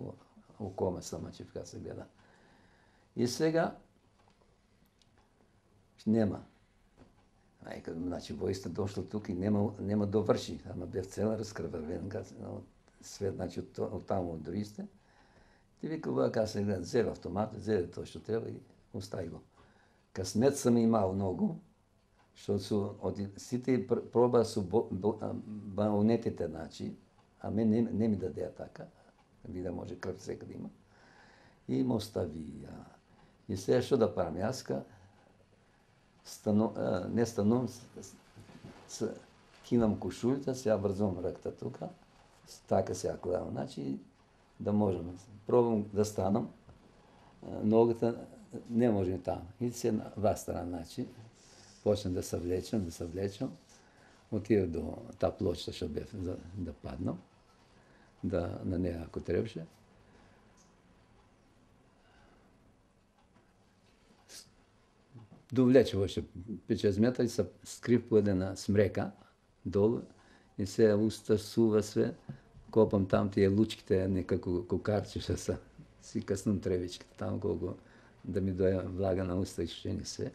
во кома сама, че така се гледа. И сега нема. Ајка, значи војста дошла тука и нема нема доврши, ама бев цела раскрвавен, свет, значи од, од таму од другите. Ти вика, вака се гледа, зеде автомат, зеде тоа што треба и остави го. Късмет съм имал много, защото су, од сите проба су балонетите, значи, а мен не, не ми даде така, ви да може кръв всека да има. И ме остави. И сега што да правим? Јаска стану, а, не станувам, кинам кошулите, сега врзвам ръкта тука, така сега гледам, значи да можем. Пробвам да станам, ногата не може там. И се на ва страна, значи, почнем да се влечем, да се влечем, отидох до та плоча, што бев за да паднам, да на нея ако требаше. Довлече още пет-шест метра и се скрив по една смрека долу и се уста сува све, копам там тие лучките, некако кокарче што са, си каснам тревичките там колко да ми доја влага на уста и шушени све.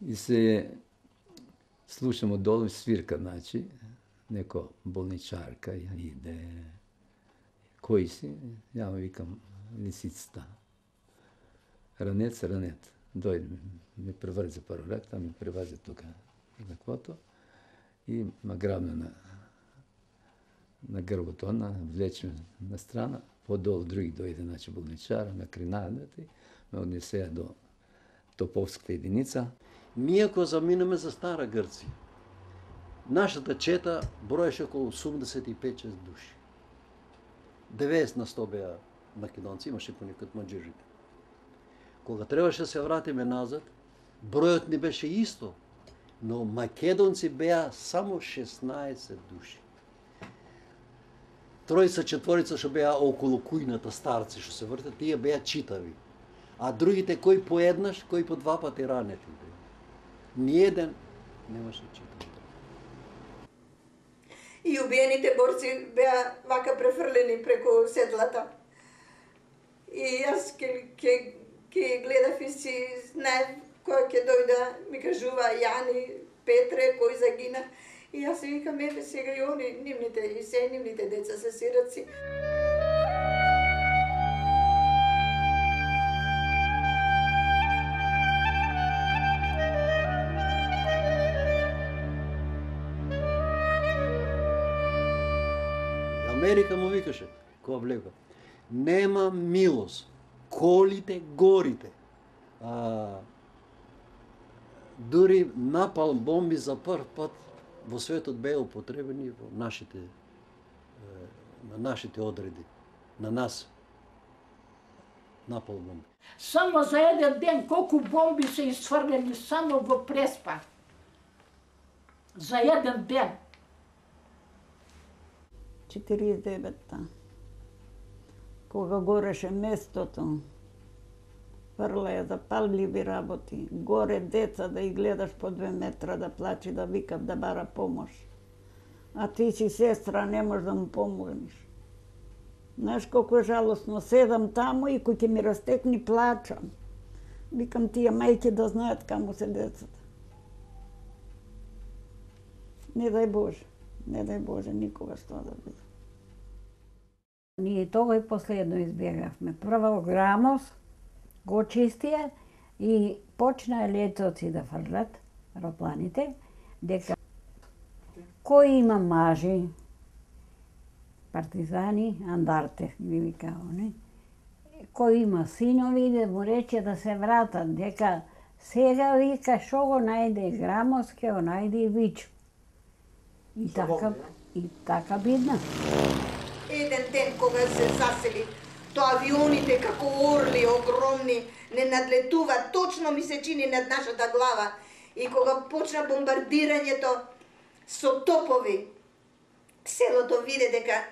И се слушам одолу свирка, значи, неко болничарка иде. Кој си? Ја му викам лисицата. Ранец, ранет. Дојде, ми преврзе прво ракта, ми превазе тука на квото и ма грабна на, на грбото, она, влече на страна, подолу други дојде, значи, болничара, ме кринадат и ме однесеа до Топовската единица. Ние ако заминеме за Стара Грција, нашата чета броеше околу осумдесет и пет-шест души. деветдесет на сто беа македонци, имаше понекад маđerите. Кога требаше да се вратиме назад, бројот не беше исто, но македонци беа само шеснаесет души. Тројца, четворица што беа околу кујната старци што се вртат, тие беа читави. А другите кој по еднаш, кој по два пати ранети беа. Ниеден немаше читави. И убиените борци беа вака префрлени преку седлата. И јас ке, ке, ке гледав и си знаев кој ќе дојда, ми кажува Јани, Петре, кој загина. И јас си викам, ебе сега и они, нивните, и се нивните деца се сираци. Америка му викаше, кога влега, нема милост, колите, горите. А, дури напал бомби за прв пат во светот беа употребени во нашите, на нашите одреди, на нас. Напал бомби. Само за еден ден колку бомби се изфрлени само во Преспа. За еден ден. четириесет и деветта. Кога гореше местото, фрлеја запалливи работи, горе деца да ги гледаш по две метра да плачи, да викав, да бара помош. А ти си сестра, не можеш да му помогнеш. Знаеш колко е жалостно, седам таму и кој ќе ми растекни плачам. Викам, тие мајки да знаат каму се децата. Не дај Боже, не дај Боже никогаш тоа да биде. Ние тогаш последно избегавме. Прво Грамос го чистија и почна летоци да фрлат аеропланите, дека кој има мажи, партизани, андарте, ги вика они, кој има синови, да му рече да се вратат, дека сега вика шо го најде Грамос, ке го најде и Вичо. И така, и така бидна. Еден ден кога се засели, тоа авионите како орли огромни не надлетуваат, точно ми се чини над нашата глава. И кога почна бомбардирањето со топови, селото виде дека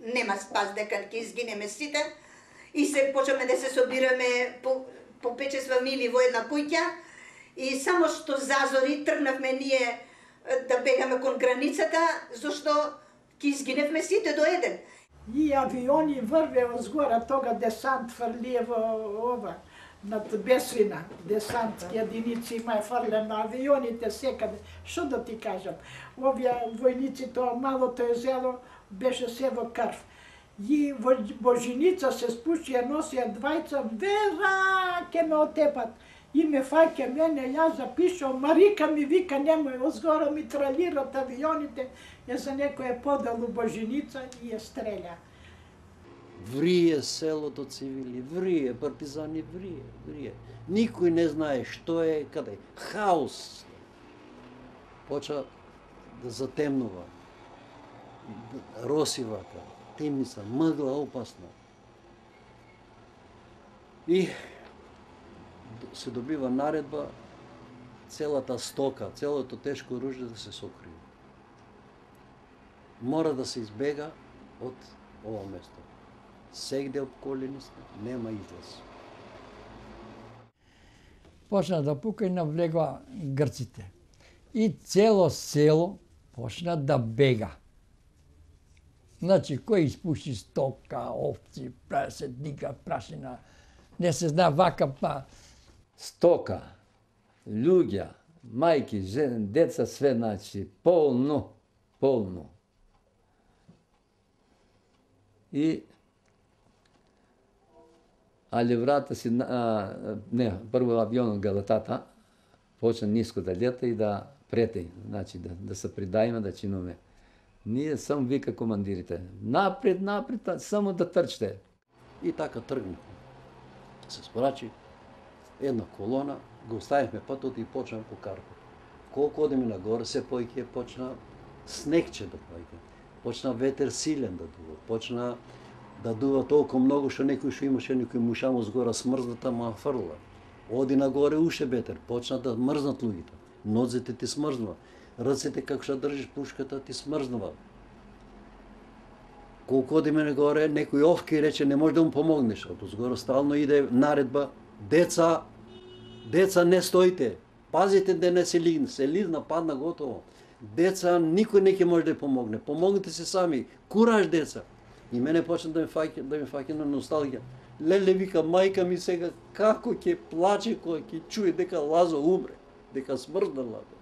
нема спас, дека ќе изгинеме сите, и се почнеме да се собираме по, по пет-шест фамилии во една куќа, и само што зазори тргнавме ние да бегаме кон границата, зашто ќе изгиневме сите до еден. И авиони врвеа згора, тога десант фрлие во ова, над Бесвина, десантски единици има фрлено авионите секаде. Што да ти кажам, овие војници, тоа малото езеро беше се во крв. И во Божиница се спушија, носија двајца, вера, ке ме отепат. И ме фаќа мене, јас запишам, Марика ми вика, немој, озгоро ми тралират авионите, ја за некој подел у Божиница и ја стреля. Врие селото цивили, врие, партизани, врие, врие. Никој не знае што е, каде. Хаос. Поча да затемнува. Роси вака, темница, мъгла опасна. И се добива наредба целата стока, целото тешко оружје да се сокрие. Мора да се избега од ова место. Сегде обколени сме, нема излаз. Почна да пука и навлегла грците. И цело село почна да бега. Значи, кој испуши стока, овци, праседника, прашина, не се зна вака па. Стока, луѓа, мајки, жени, деца, све, значи, полно, полно. И али врата си, а, не, прво авионот го летата, почна ниско да лета и да прети, значи да, да се придајме, да чинуме. Ние само вика командирите, напред, напред, само да трчте. И така тргнахме. Се спорачи една колона, го оставихме патот и почнам по карпот. Колку одеме нагоре, се појќе почна снегче да појќе. Почна ветер силен да дува, почна да дува толку многу што некој што имаше некој мушамо згора смрзната ма фрла. Оди нагоре уште бетер, почна да мрзнат луѓето. Ноците ти смрзнува. Ръцете како што држиш пушката ти смрзнува. Колку оди мене горе, некој овки рече не може да му помогнеш, од згора стално иде наредба, деца, деца не стоите, пазите да не се лигне, се лизна, падна готово. Деца никој не ќе може да помогне, помогнете се сами, кураж деца. И мене почна да ми фаќа, да ми фаќа на носталгија. Леле, вика, мајка ми сега како ќе плаче кога ќе чуе дека Лазо умре, дека смрзна Лазо.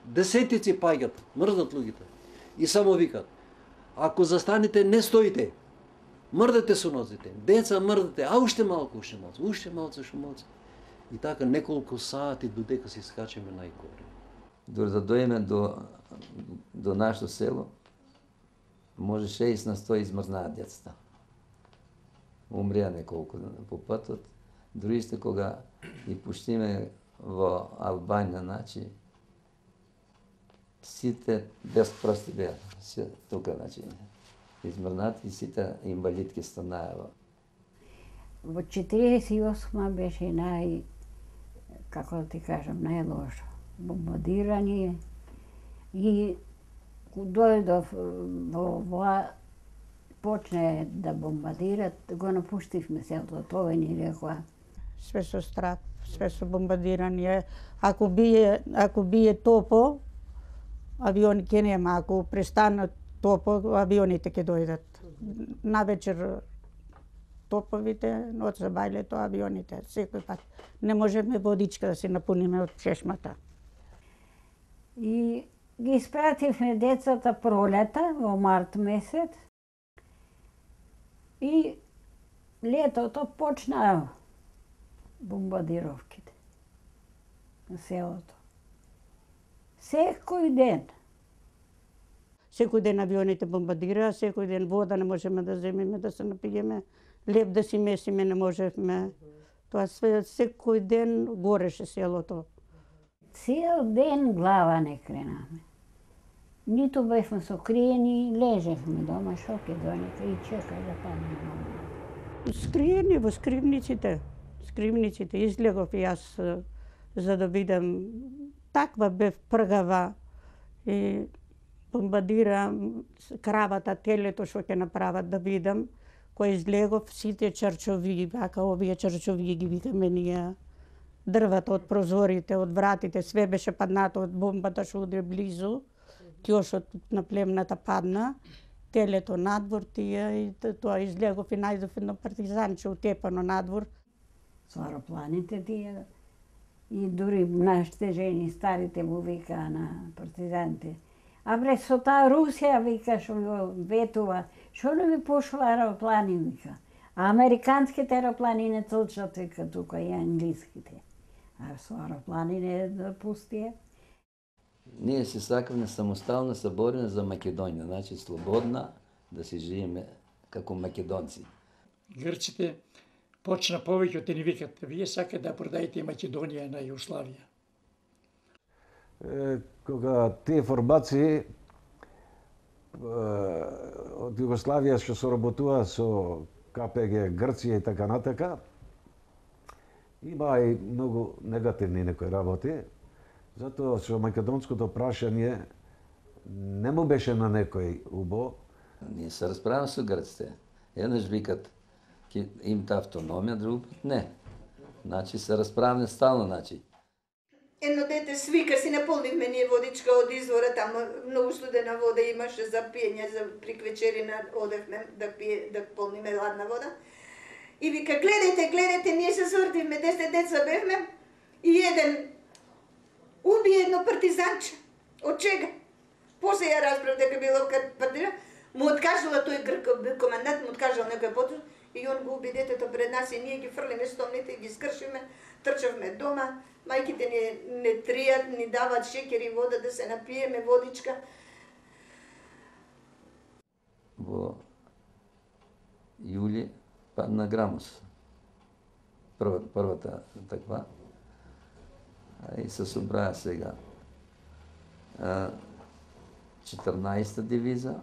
Десетици паѓат, мрзнат луѓето. И само викат, ако застанете, не стоите. Мрдете со ноците. Деца мрдете, а уште малку, уште малку, уште малку, уште малку. И така неколку сати додека се скачеме најгоре. Дори да дојме до, до нашето село, може шест на сто измрзнаат децата. Умрија неколку по патот. Другите кога ги пуштиме во Албанија, значи, сите без прсти беа. Се тука, значи, измрзнати и сите инвалидки станаа. Во четиридесет и осма беше нај, како да ти кажам, најлошо. Бомбардирање и дојдов во во почне да бомбардират, го напуштивме селото, тоа ни рекоа. Све со страх, све со бомбардирање. Ако бие, ако бие топо, авиони ќе нема, ако престанат топо, авионите ќе дојдат. Навечер топовите, ноќ за бајлето авионите, секој пат. Не можеме водичка да се напуниме од чешмата. И ги испративме децата пролета во март месец. И летото почнаа бомбардировките на селото. Секој ден. Секој ден авионите бомбардираа, секој ден вода не можеме да земеме, да се напиеме, леп да си месиме не можевме. Тоа све, секој ден гореше селото. Цел ден глава не кренаме. Ниту бевме сокриени, лежевме дома, шо ќе донека и чекај да падне дома. Скриени во скривниците. Скривниците излегов и јас за да видам. Таква бев пргава и бомбардира кравата, телето што ќе направат да видам. Кој излегов сите чарчови, вака овие чарчови ги викаме ние. Дрвата од прозорите, од вратите, све беше паднато од бомбата што удри близу. Кјошот на племната падна, телето надвор тие и тоа излегов и најдов едно партизанче утепано надвор. Со аеропланите тие и дури нашите жени, старите му викаа на партизаните. А бре, со таа Русија, вика, што го ветува, што не ви пошла аероплани, вика. А американските аероплани не толчат, вика, тука и англиските. А со аероплани не да пустие. Ние се сакаме самостална, се бориме за Македонија, значи слободна, да се живееме како македонци. Грците почна повеќе да ни викат, вие сакате да продаете Македонија на Југославија. Е, кога тие формации од Југославија што соработува со Ка Пе Ге Грција и така натака, има и многу негативни некои работи, затоа со македонското прашање не му беше на некој убо. Ние се расправаме со грците. Еднаш викат ќе имате автономија, друг пат не. Значи се расправаме стално, значи. Едно дете свика, си наполнивме ние водичка од извора, таму многу студена вода имаше за пиење, за приквечерина одевме да пие, да полниме ладна вода. И вика, гледайте, гледайте, ние се свртивме, десет деца бевме и еден уби едно партизанче. Од чега? После ја разбрав дека било партизан, му откажала тој грков командант, му откажал некој потоа и он го уби детето пред нас и ние ги фрлиме стомните и ги скршиме, трчавме дома. Мајките ни не тријат, ни дават шекер и вода да се напиеме, водичка. Во јули падна Грамос. Прва, првата таква. И се собраа сега четрнаесета дивиза,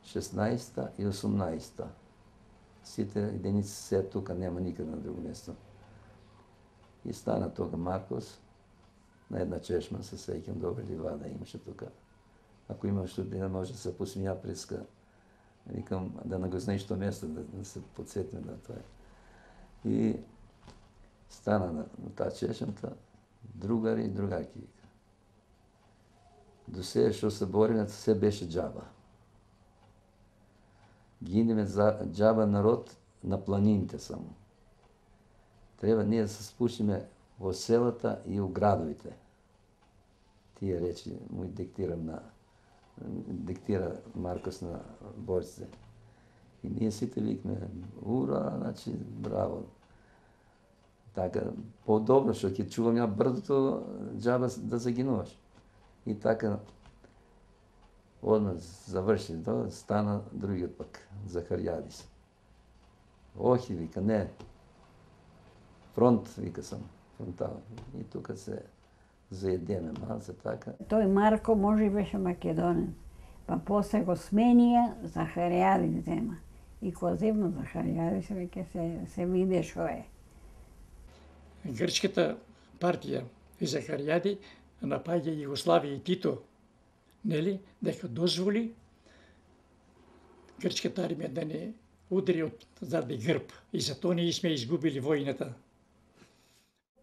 шеснаесета и осумнаесета. сите единици се тука, нема никаде на друго место. И стана тога Маркос, на една чешма, се сеќам, добри ливада имаше тука. Ако имаш студент, може да се посмија преска. Викам, да не го знаеш то место, да, да се подсетиме на тоа. И стана на, на таа чешмата, другари и другарки. До сега што се бориме, се беше џаба. Гинеме за џаба народ на планините само. Треба ние да се спушиме во селата и у градовите. Тие речи му диктирам на диктира Маркос на борците. И ние сите викме, ура, значи, браво. Така, по-добро, што ќе чувам ја брдото, џаба да загинуваш. И така, одмah заврши тоа, стана другиот пак, Захаријадис. Охи, вика, не. Фронт, вика сам, фронтал. И тука се заедеме малце, така. Тој Марко може беше македонен, па после го сменија, Захаријадис зема. И кога земно Захаријадис, веќе се, се виде шо е. Грчката партија и Захаријади напаѓа Југославија и Тито, нели, дека дозволи грчката армија да не удари од заради грб. И затоа ние сме изгубили војната.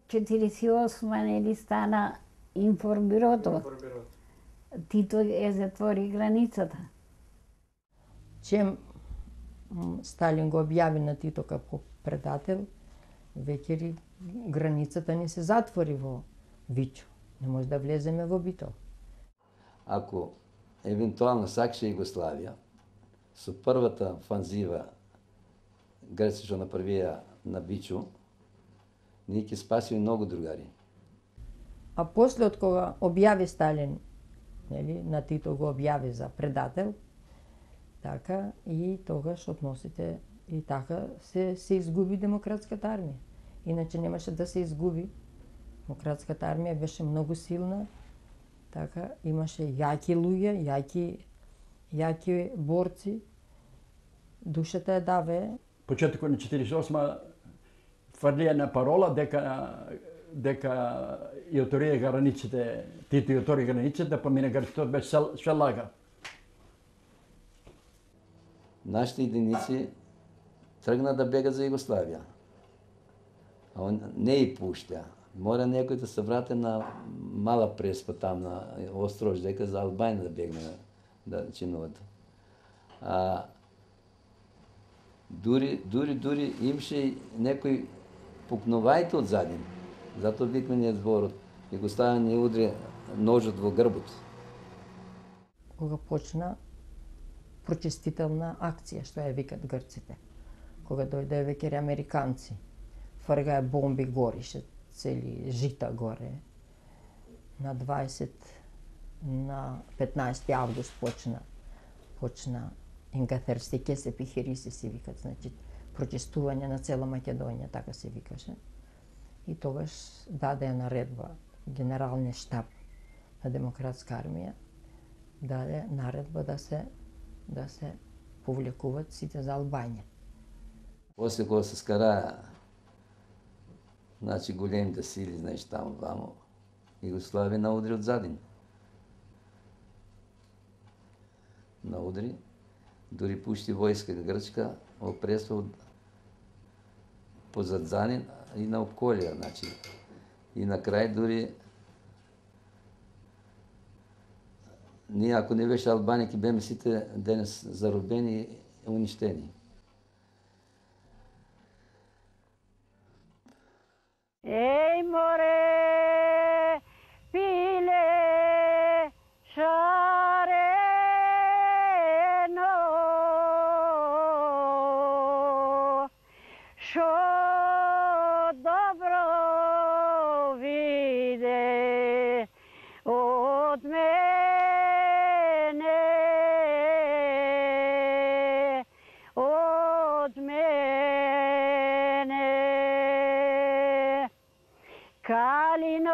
четиридесет и осма нели стана информбирото. Тито е затвори границата. Чем Сталин го објави на Тито како предател, веќе границата ни се затвори во Вичо. Не може да влеземе во Битол. Ако евентуално сакаше Југославија, со првата фанзива Грци што направија на Бичу, ние ќе спасиме многу другари. А после од кога објави Сталин, нели, на Тито го објави за предател, така и тогаш односите и така се се изгуби демократската армија. Иначе немаше да се изгуби. Демократската армија беше многу силна, така имаше јаки луѓе, јаки јаки борци. Душата е даве. Почетокот на четиридесет и осма фрлија на парола дека дека ја отворија границите, Тито ја отвори границите, да помине границите без шелага. Нашите единици тргна да бега за Југославија. А он не и пушта. Мора некој да се врати на Мала Преспа, там на Острош, дека за Албања да бегне да чинуват. А дури, дури, дури имаше некој пукнувајте од задин. Затоа викме ние зборот. Југославија не удри ножот во грбот. Кога почна прочестителна акција, што ја викат грците. Кога дојде веќе американци, фргаја бомби горише, цели жита горе. На дваесет, на петнаесети август почна почна Ингатерстике се пихериси се викат, значи прочестување на цела Македонија, така се викаше. И тогаш даде наредба генералниот штаб на демократска армија, даде наредба да се да се повлекуваат сите за Албања. После кога се скара, значи големите сили, знаеш, таму вамо, Југославија наудри од задин. Наудри, дури пушти војска грчка, опресва позад задин и на обколија, значи. И на крај дури ние, ако не беше Албанија, ќе беме сите денес заробени и уништени. Ей, море, пиле, шарено, шо добро виде од мене, од мене. Калино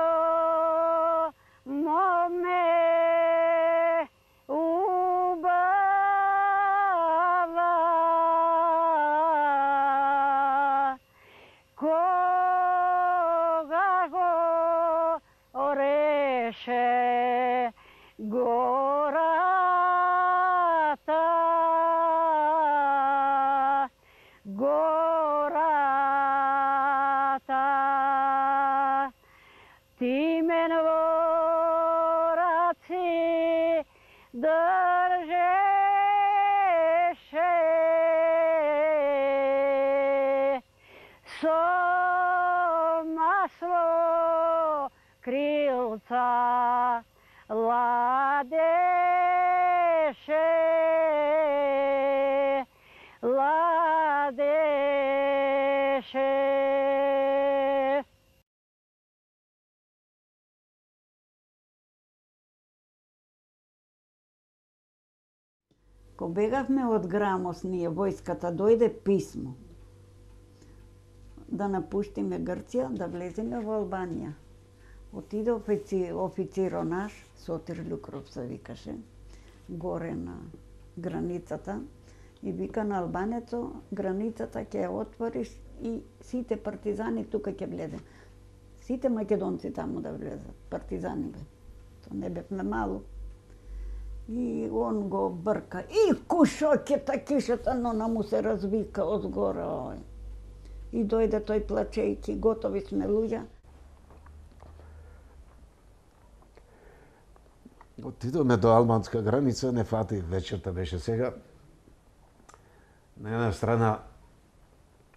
со масло крилца ладеше, ладеше. Ко бегавме од Грамоз, ние војската дојде писмо да напуштиме Грција, да влеземе во Албанија. Отиде офици, официро наш, Сотир Люкров се викаше, горе на границата, и вика на албанецо, границата ќе ја отвориш и сите партизани тука ќе влезе. Сите македонци таму да влезат, партизани бе. То не бевме мало. И он го брка. И кушокета кишата, но на му се развика одгоре. Ој. И дојде тој плачејки, готови сме луѓа. Отидоме до албанска граница, не фати, вечерта беше сега. На една страна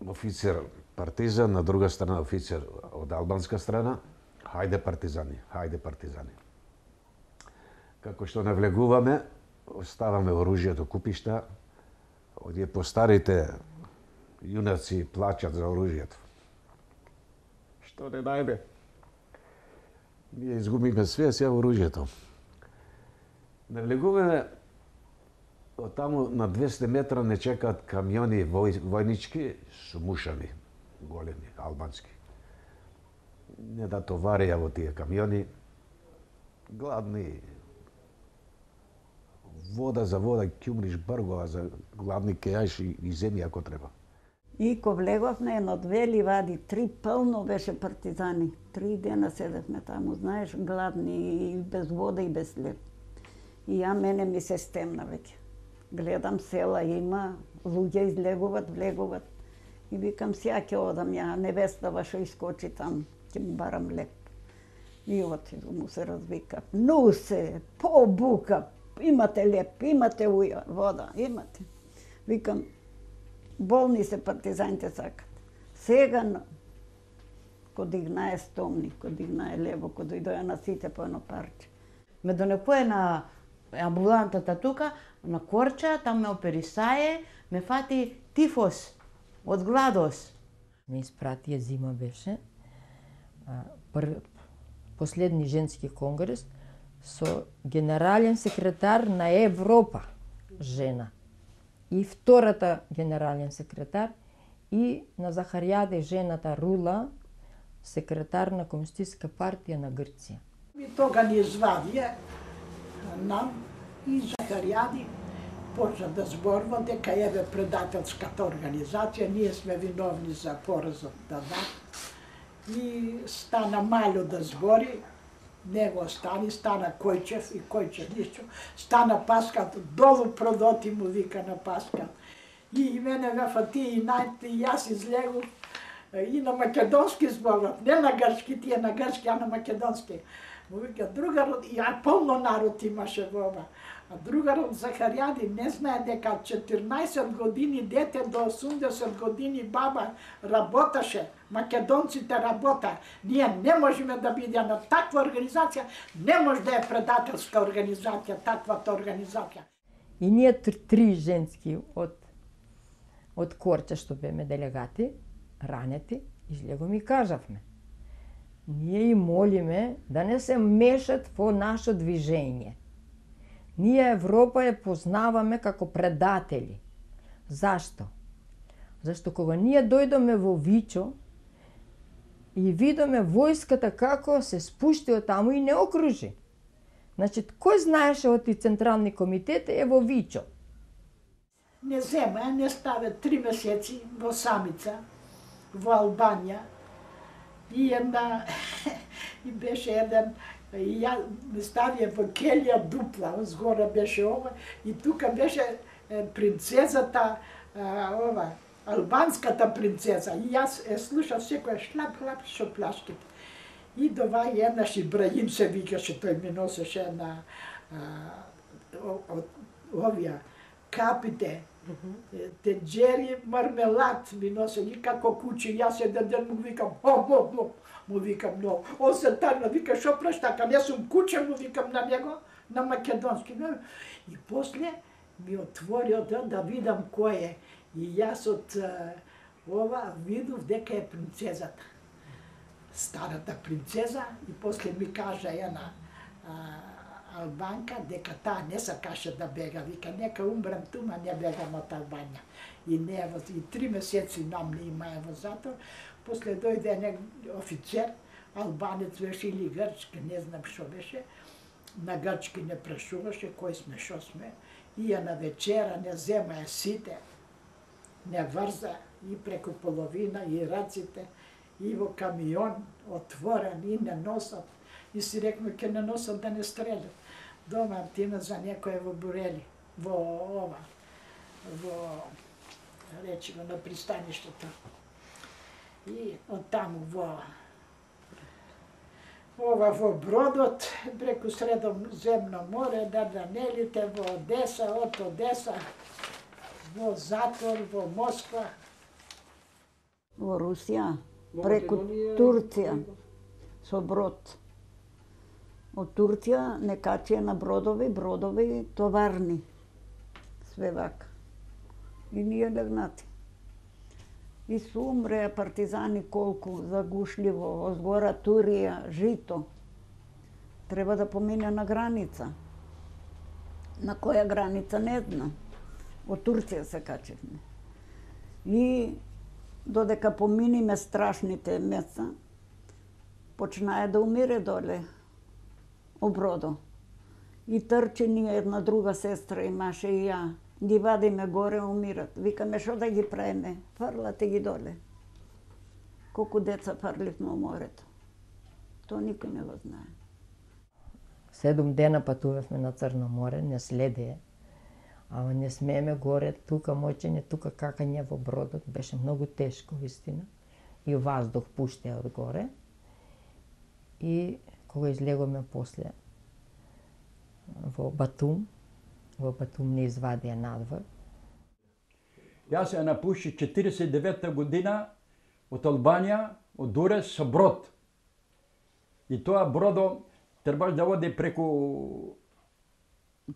офицер партизан, на друга страна офицер од албанска страна. Хајде партизани, хајде партизани. Како што навлегуваме, оставаме оружјето купишта, одие постарите јунаци плачат за оружјето. Што не најде? Ние изгубиме све, сега оружјето. Навлегуваме, од таму на двесте метра не чекаат камиони вој, војнички со мушами, големи, албански. Не да товарија во тие камиони, гладни, вода за вода, ќумриш бргова за гладни кејаш и, и земја ако треба. И ко влеговме едно-две ливади, три пълно беше партизани. Три дена седевме таму, знаеш, гладни и без вода и без хлеб. И ја мене ми се стемна веќе. Гледам села има, луѓе излегуват, влегуват. И викам, сја ќе одам ја, невестава што искочи там, ќе му барам леп. И отиду, му се развика. Ну се, побука, имате леп, имате уја, вода, имате. Викам, болни се партизаните сакат. Сега, ко дигнае стомни, ко дигнае лево, ко дојдоја на сите по едно парче. Ме донекое на амбулантата тука, на Корча, там ме оперисае, ме фати тифос, од гладос. Ме испратија зима беше, прв, последни женски конгрес, со генерален секретар на Европа, жена. И втората генерален секретар, и на Захаријаде жената Рула, секретар на Комунистичка партија на Грција. И тога ни извадија нам и Захаријади почна да зборува дека еве предателската организација, ние сме виновни за поразот да да. И стана Мало да збори, него стани, стана Којчев и Којчев ништо, стана Паскал, долу продоти му вика на Паскал. И мене ме фати и најте, и јас излегов и на македонски зборот, не на грчки, тие на грчки, а на македонски. Му вика, другарот, и а полно народ имаше во ова. А другарот Захаријади не знае дека четирнаесет години дете до осумдесет години баба работаше, македонците работа. Ние не можеме да бидеме на таква организација, не може да е предателска организација, таквата организација. И ние три женски од од Корча што беме делегати, ранети, излегоме и кажавме. Ние и молиме да не се мешат во наше движење. Ние Европа ја познаваме како предатели. Зашто? Зашто кога ние дојдоме во Вичо и видоме војската како се спушти од таму и не окружи. Значи, кој знаеше од и Централни комитети е во Вичо? Не зема, не ставе три месеци во самица, во Албанија. И една, и беше еден, и ја ме ставија во келија дупла, згора беше ова, и тука беше принцезата, ова, албанската принцеза. И јас е слушав секоја шлап-шлап со плашките. И дова еднаш Ибраим се викаше, тој ми носеше една овија капите, тенџери, мармелад ми носе и како куче, јас еден ден му викам, о, о, о, му викам, но, он се тарна, вика, шо праштака, не сум куче, му викам на него, на македонски. И после ми отвори од да видам кој е. И јас од ова видов дека е принцезата. Старата принцеза, и после ми кажа една Албанка дека таа не сакаше да бега, вика нека умрем тума, не бегам од Албанија. И не во и три месеци нам не има во затвор. После дојде еден офицер, албанец беше или грчки, не знам што беше. На грчки не прашуваше кој сме, што сме. И ја на вечера не зема ја сите, не врза и преку половина и раците, и во камион отворен и не носат. И си рекме ке не носат да не стрелят. Дома тина за некој во Бурели, во ова, во, речиме, на пристаништето. И оттаму во ова во бродот, преку Средоземно море, Дарданелите, во Одеса, од Одеса, во затвор, во Москва. Во Русија, преку Турција, со брод. Од Турција не качија на бродови, бродови товарни. Све вака. И ние легнати. И су умреа партизани колку загушливо, озгора Турија, жито. Треба да помине на граница. На која граница не знам. Од Турција се качевме. И додека поминиме страшните места, почнае да умире доле обродо. И трчи ние една друга сестра имаше и ја. Ги вадиме горе, умират. Викаме, шо да ги правиме? Фрлате ги доле. Колку деца фарливме во морето. То никој не го знае. Седум дена патувавме на Црно море, не следе. Ама не смееме горе, тука моќење, тука какање во бродот. Беше многу тешко, вистина. И ваздух пуштеа од горе. И кога излегоме после во Батум, во Батум не извадија надвор. Јас ја напуши четиридесет и девета година од Албанија, од Дурес со брод. И тоа бродо требаш да оди преку...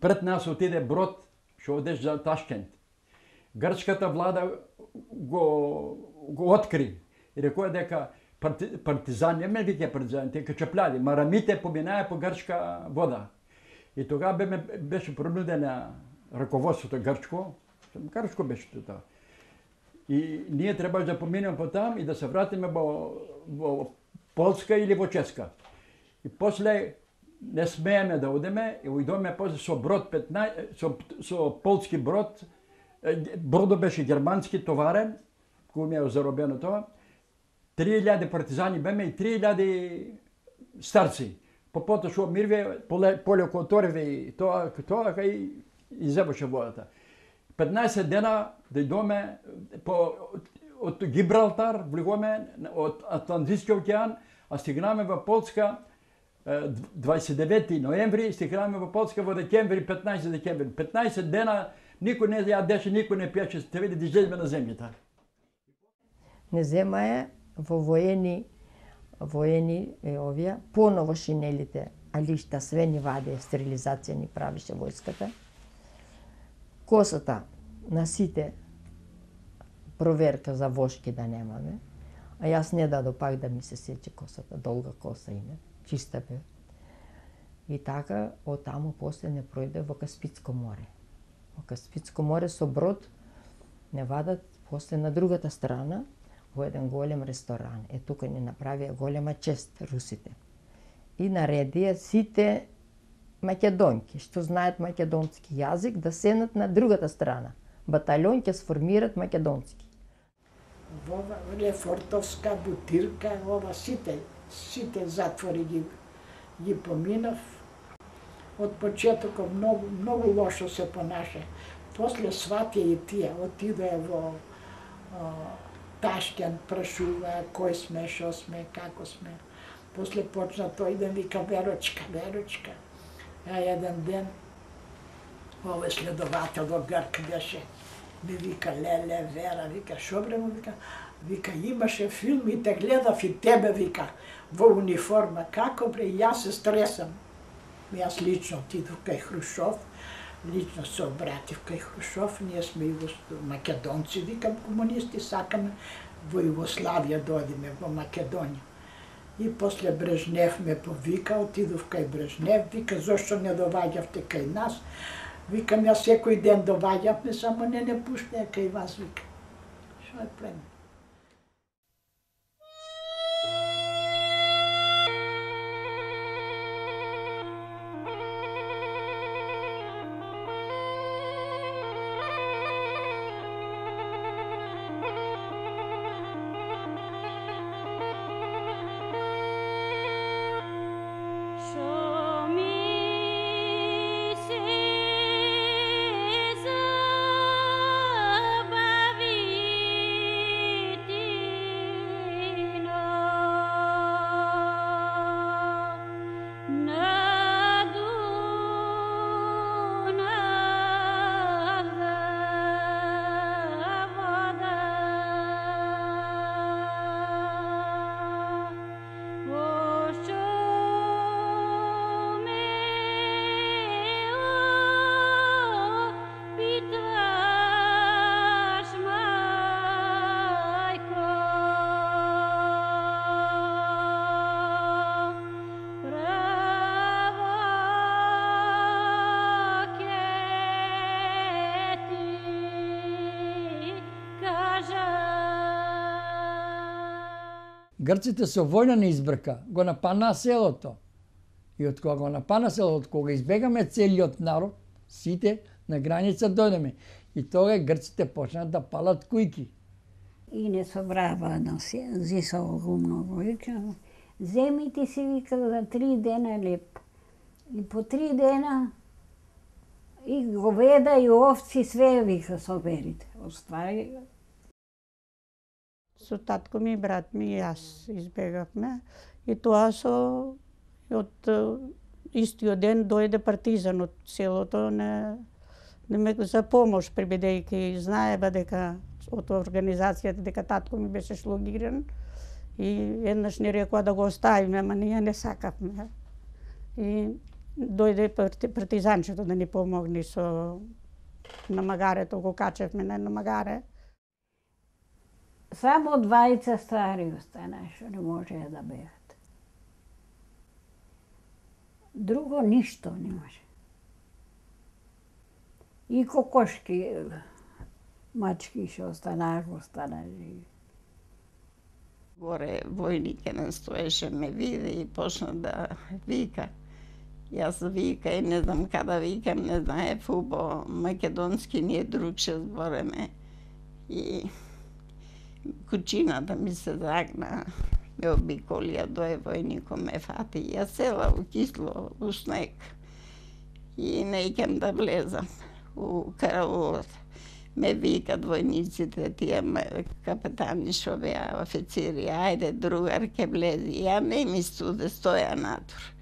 Пред нас отиде брод што одеш за Ташкент. Грчката влада го, го откри и рекоа дека парти, партизани, не ме вика партизани, те качапляди, марамите поминаа по грчка вода. И тога бе, беше принудена раководството грчко, грчко беше тоа. И ние требаше да поминеме по там и да се вратиме во, во Полска или во Ческа. И после не смееме да одеме и ујдоме после со брод петнаесет, со, со полски брод, бродо беше германски товарен, кој ми е заробено тоа, три илјади партизани беме и три илјади старци. По пото шо мирве, поле, поле которве и тоа, тоа кај изебаше водата. петнаесет дена дојдоме по, од Гибралтар, влегоме од Атлантискиот океан, а стигнаме во Полска дваесет и девети ноември, стигнаме во Полска во декември, петнаесет декември. петнаесет дена никој не јадеше, никој не пиеше, те види да излеземе на земјата. Не земае во воени, воени е овие, поново шинелите, алишта, све ни ваде, стерилизација ни правише војската. Косата на сите проверка за вошки да немаме, а јас не дадо пак да ми се сече косата, долга коса име, чиста бе. И така, од таму после не пројде во Каспицко море. Во Каспицко море со брод не вадат после на другата страна во еден голем ресторан. Е, тука ни направија голема чест русите. И наредија сите македонки, што знаат македонски јазик, да седнат на другата страна. Батальон ќе сформират македонски. Во Лефортовска, Бутирка, ова сите, сите затвори ги, ги поминав. Од почетокот многу, многу лошо се понаша. После сватија и тие, отидоа во о, Ташкент, прашуваа кој сме, шо сме, како сме. После почна тој да вика Верочка, Верочка. А еден ден Овој следовател во Грк беше. Ми вика, леле, Вера, вика, шо бре му вика, вика, имаше филм и те гледав и тебе, вика, во униформа. Како бре, јас се стресам. Јас лично отидов кај Хрушов, лично се обратив кај Хрушов, ние сме и македонци, викам, комунисти, сакаме во Југославија дојдеме, во Македонија. И после Брежнев ме повика, отидов кај Брежнев, вика, зошто не доваѓавте кај нас? Викам, јас секој ден доваѓавме, само не не пуштеа кај вас, вика. Шо е племе? Грците со војна не избрка, го нападнаа селото. И од кога го нападна селото, од кога избегаме целиот народ, сите на граница дојдеме. И тога грците почнаа да палат кујки. И не собрава на зисово го многу. Вика, земите си, вика, за три дена леп. И по три дена и говеда и овци, све, вика, соберите. Оствари. Со татко ми, брат ми и јас избегавме. И тоа со од истиот ден дојде партизан од селото не, не ме за помош, прибедејќи знаеба дека од организацијата дека татко ми беше шлогиран и еднаш ни рекоа да го оставиме, ама ние не сакавме. И дојде партизанчето да ни помогне со намагарето, го качевме на намагаре. Само двајца стари остана, што не можеа да бегат. Друго ништо не може. И кокошки, мачки што останаа, останаа живи. Горе војник еден стоеше, ме види и почна да вика. Јас вика и не знам када викам, не знае фубо, македонски ние другше збореме. И кучината ми се загна, ме обиколија, дое војнико ме фати. Јас села у кисло, у снег. И не икам да влезам у караулот. Ме викат војниците, тие капетани шо беа официри, ајде другар ке влези. Ја не ми студе, стоја натур.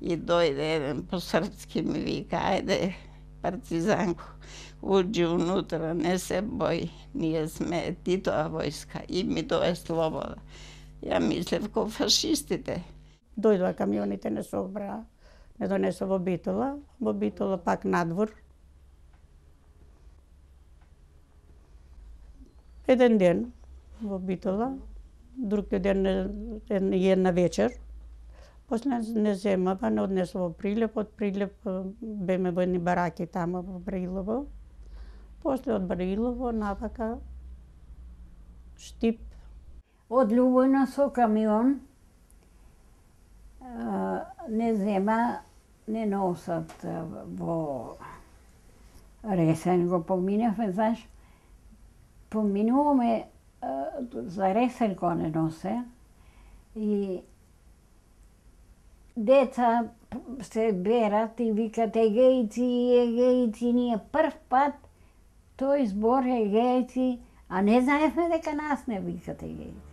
И дојде еден по-српски ми вика, ајде партизанко, уđi унутра, не се бој, ние сме Титова војска и ми дое слобода. Ја мислев ко фашистите. Дојдоа камионите, не се обраа, не донесо во Битола, во Битола пак надвор. Еден ден во Битола, друг ден една вечер. После не земава, не однесо во Прилеп, од Прилеп беме во едни бараки тamo во Брилово. После од Брилово навака Штип. Од Љубојна со камион не зема, не носат во Ресен, го поминавме, знаеш, поминуваме за Ресен го не носе и деца се берат и викат егејци, егејци, ние прв пат тој збор егејци, а не знаевме дека нас не викат егејци.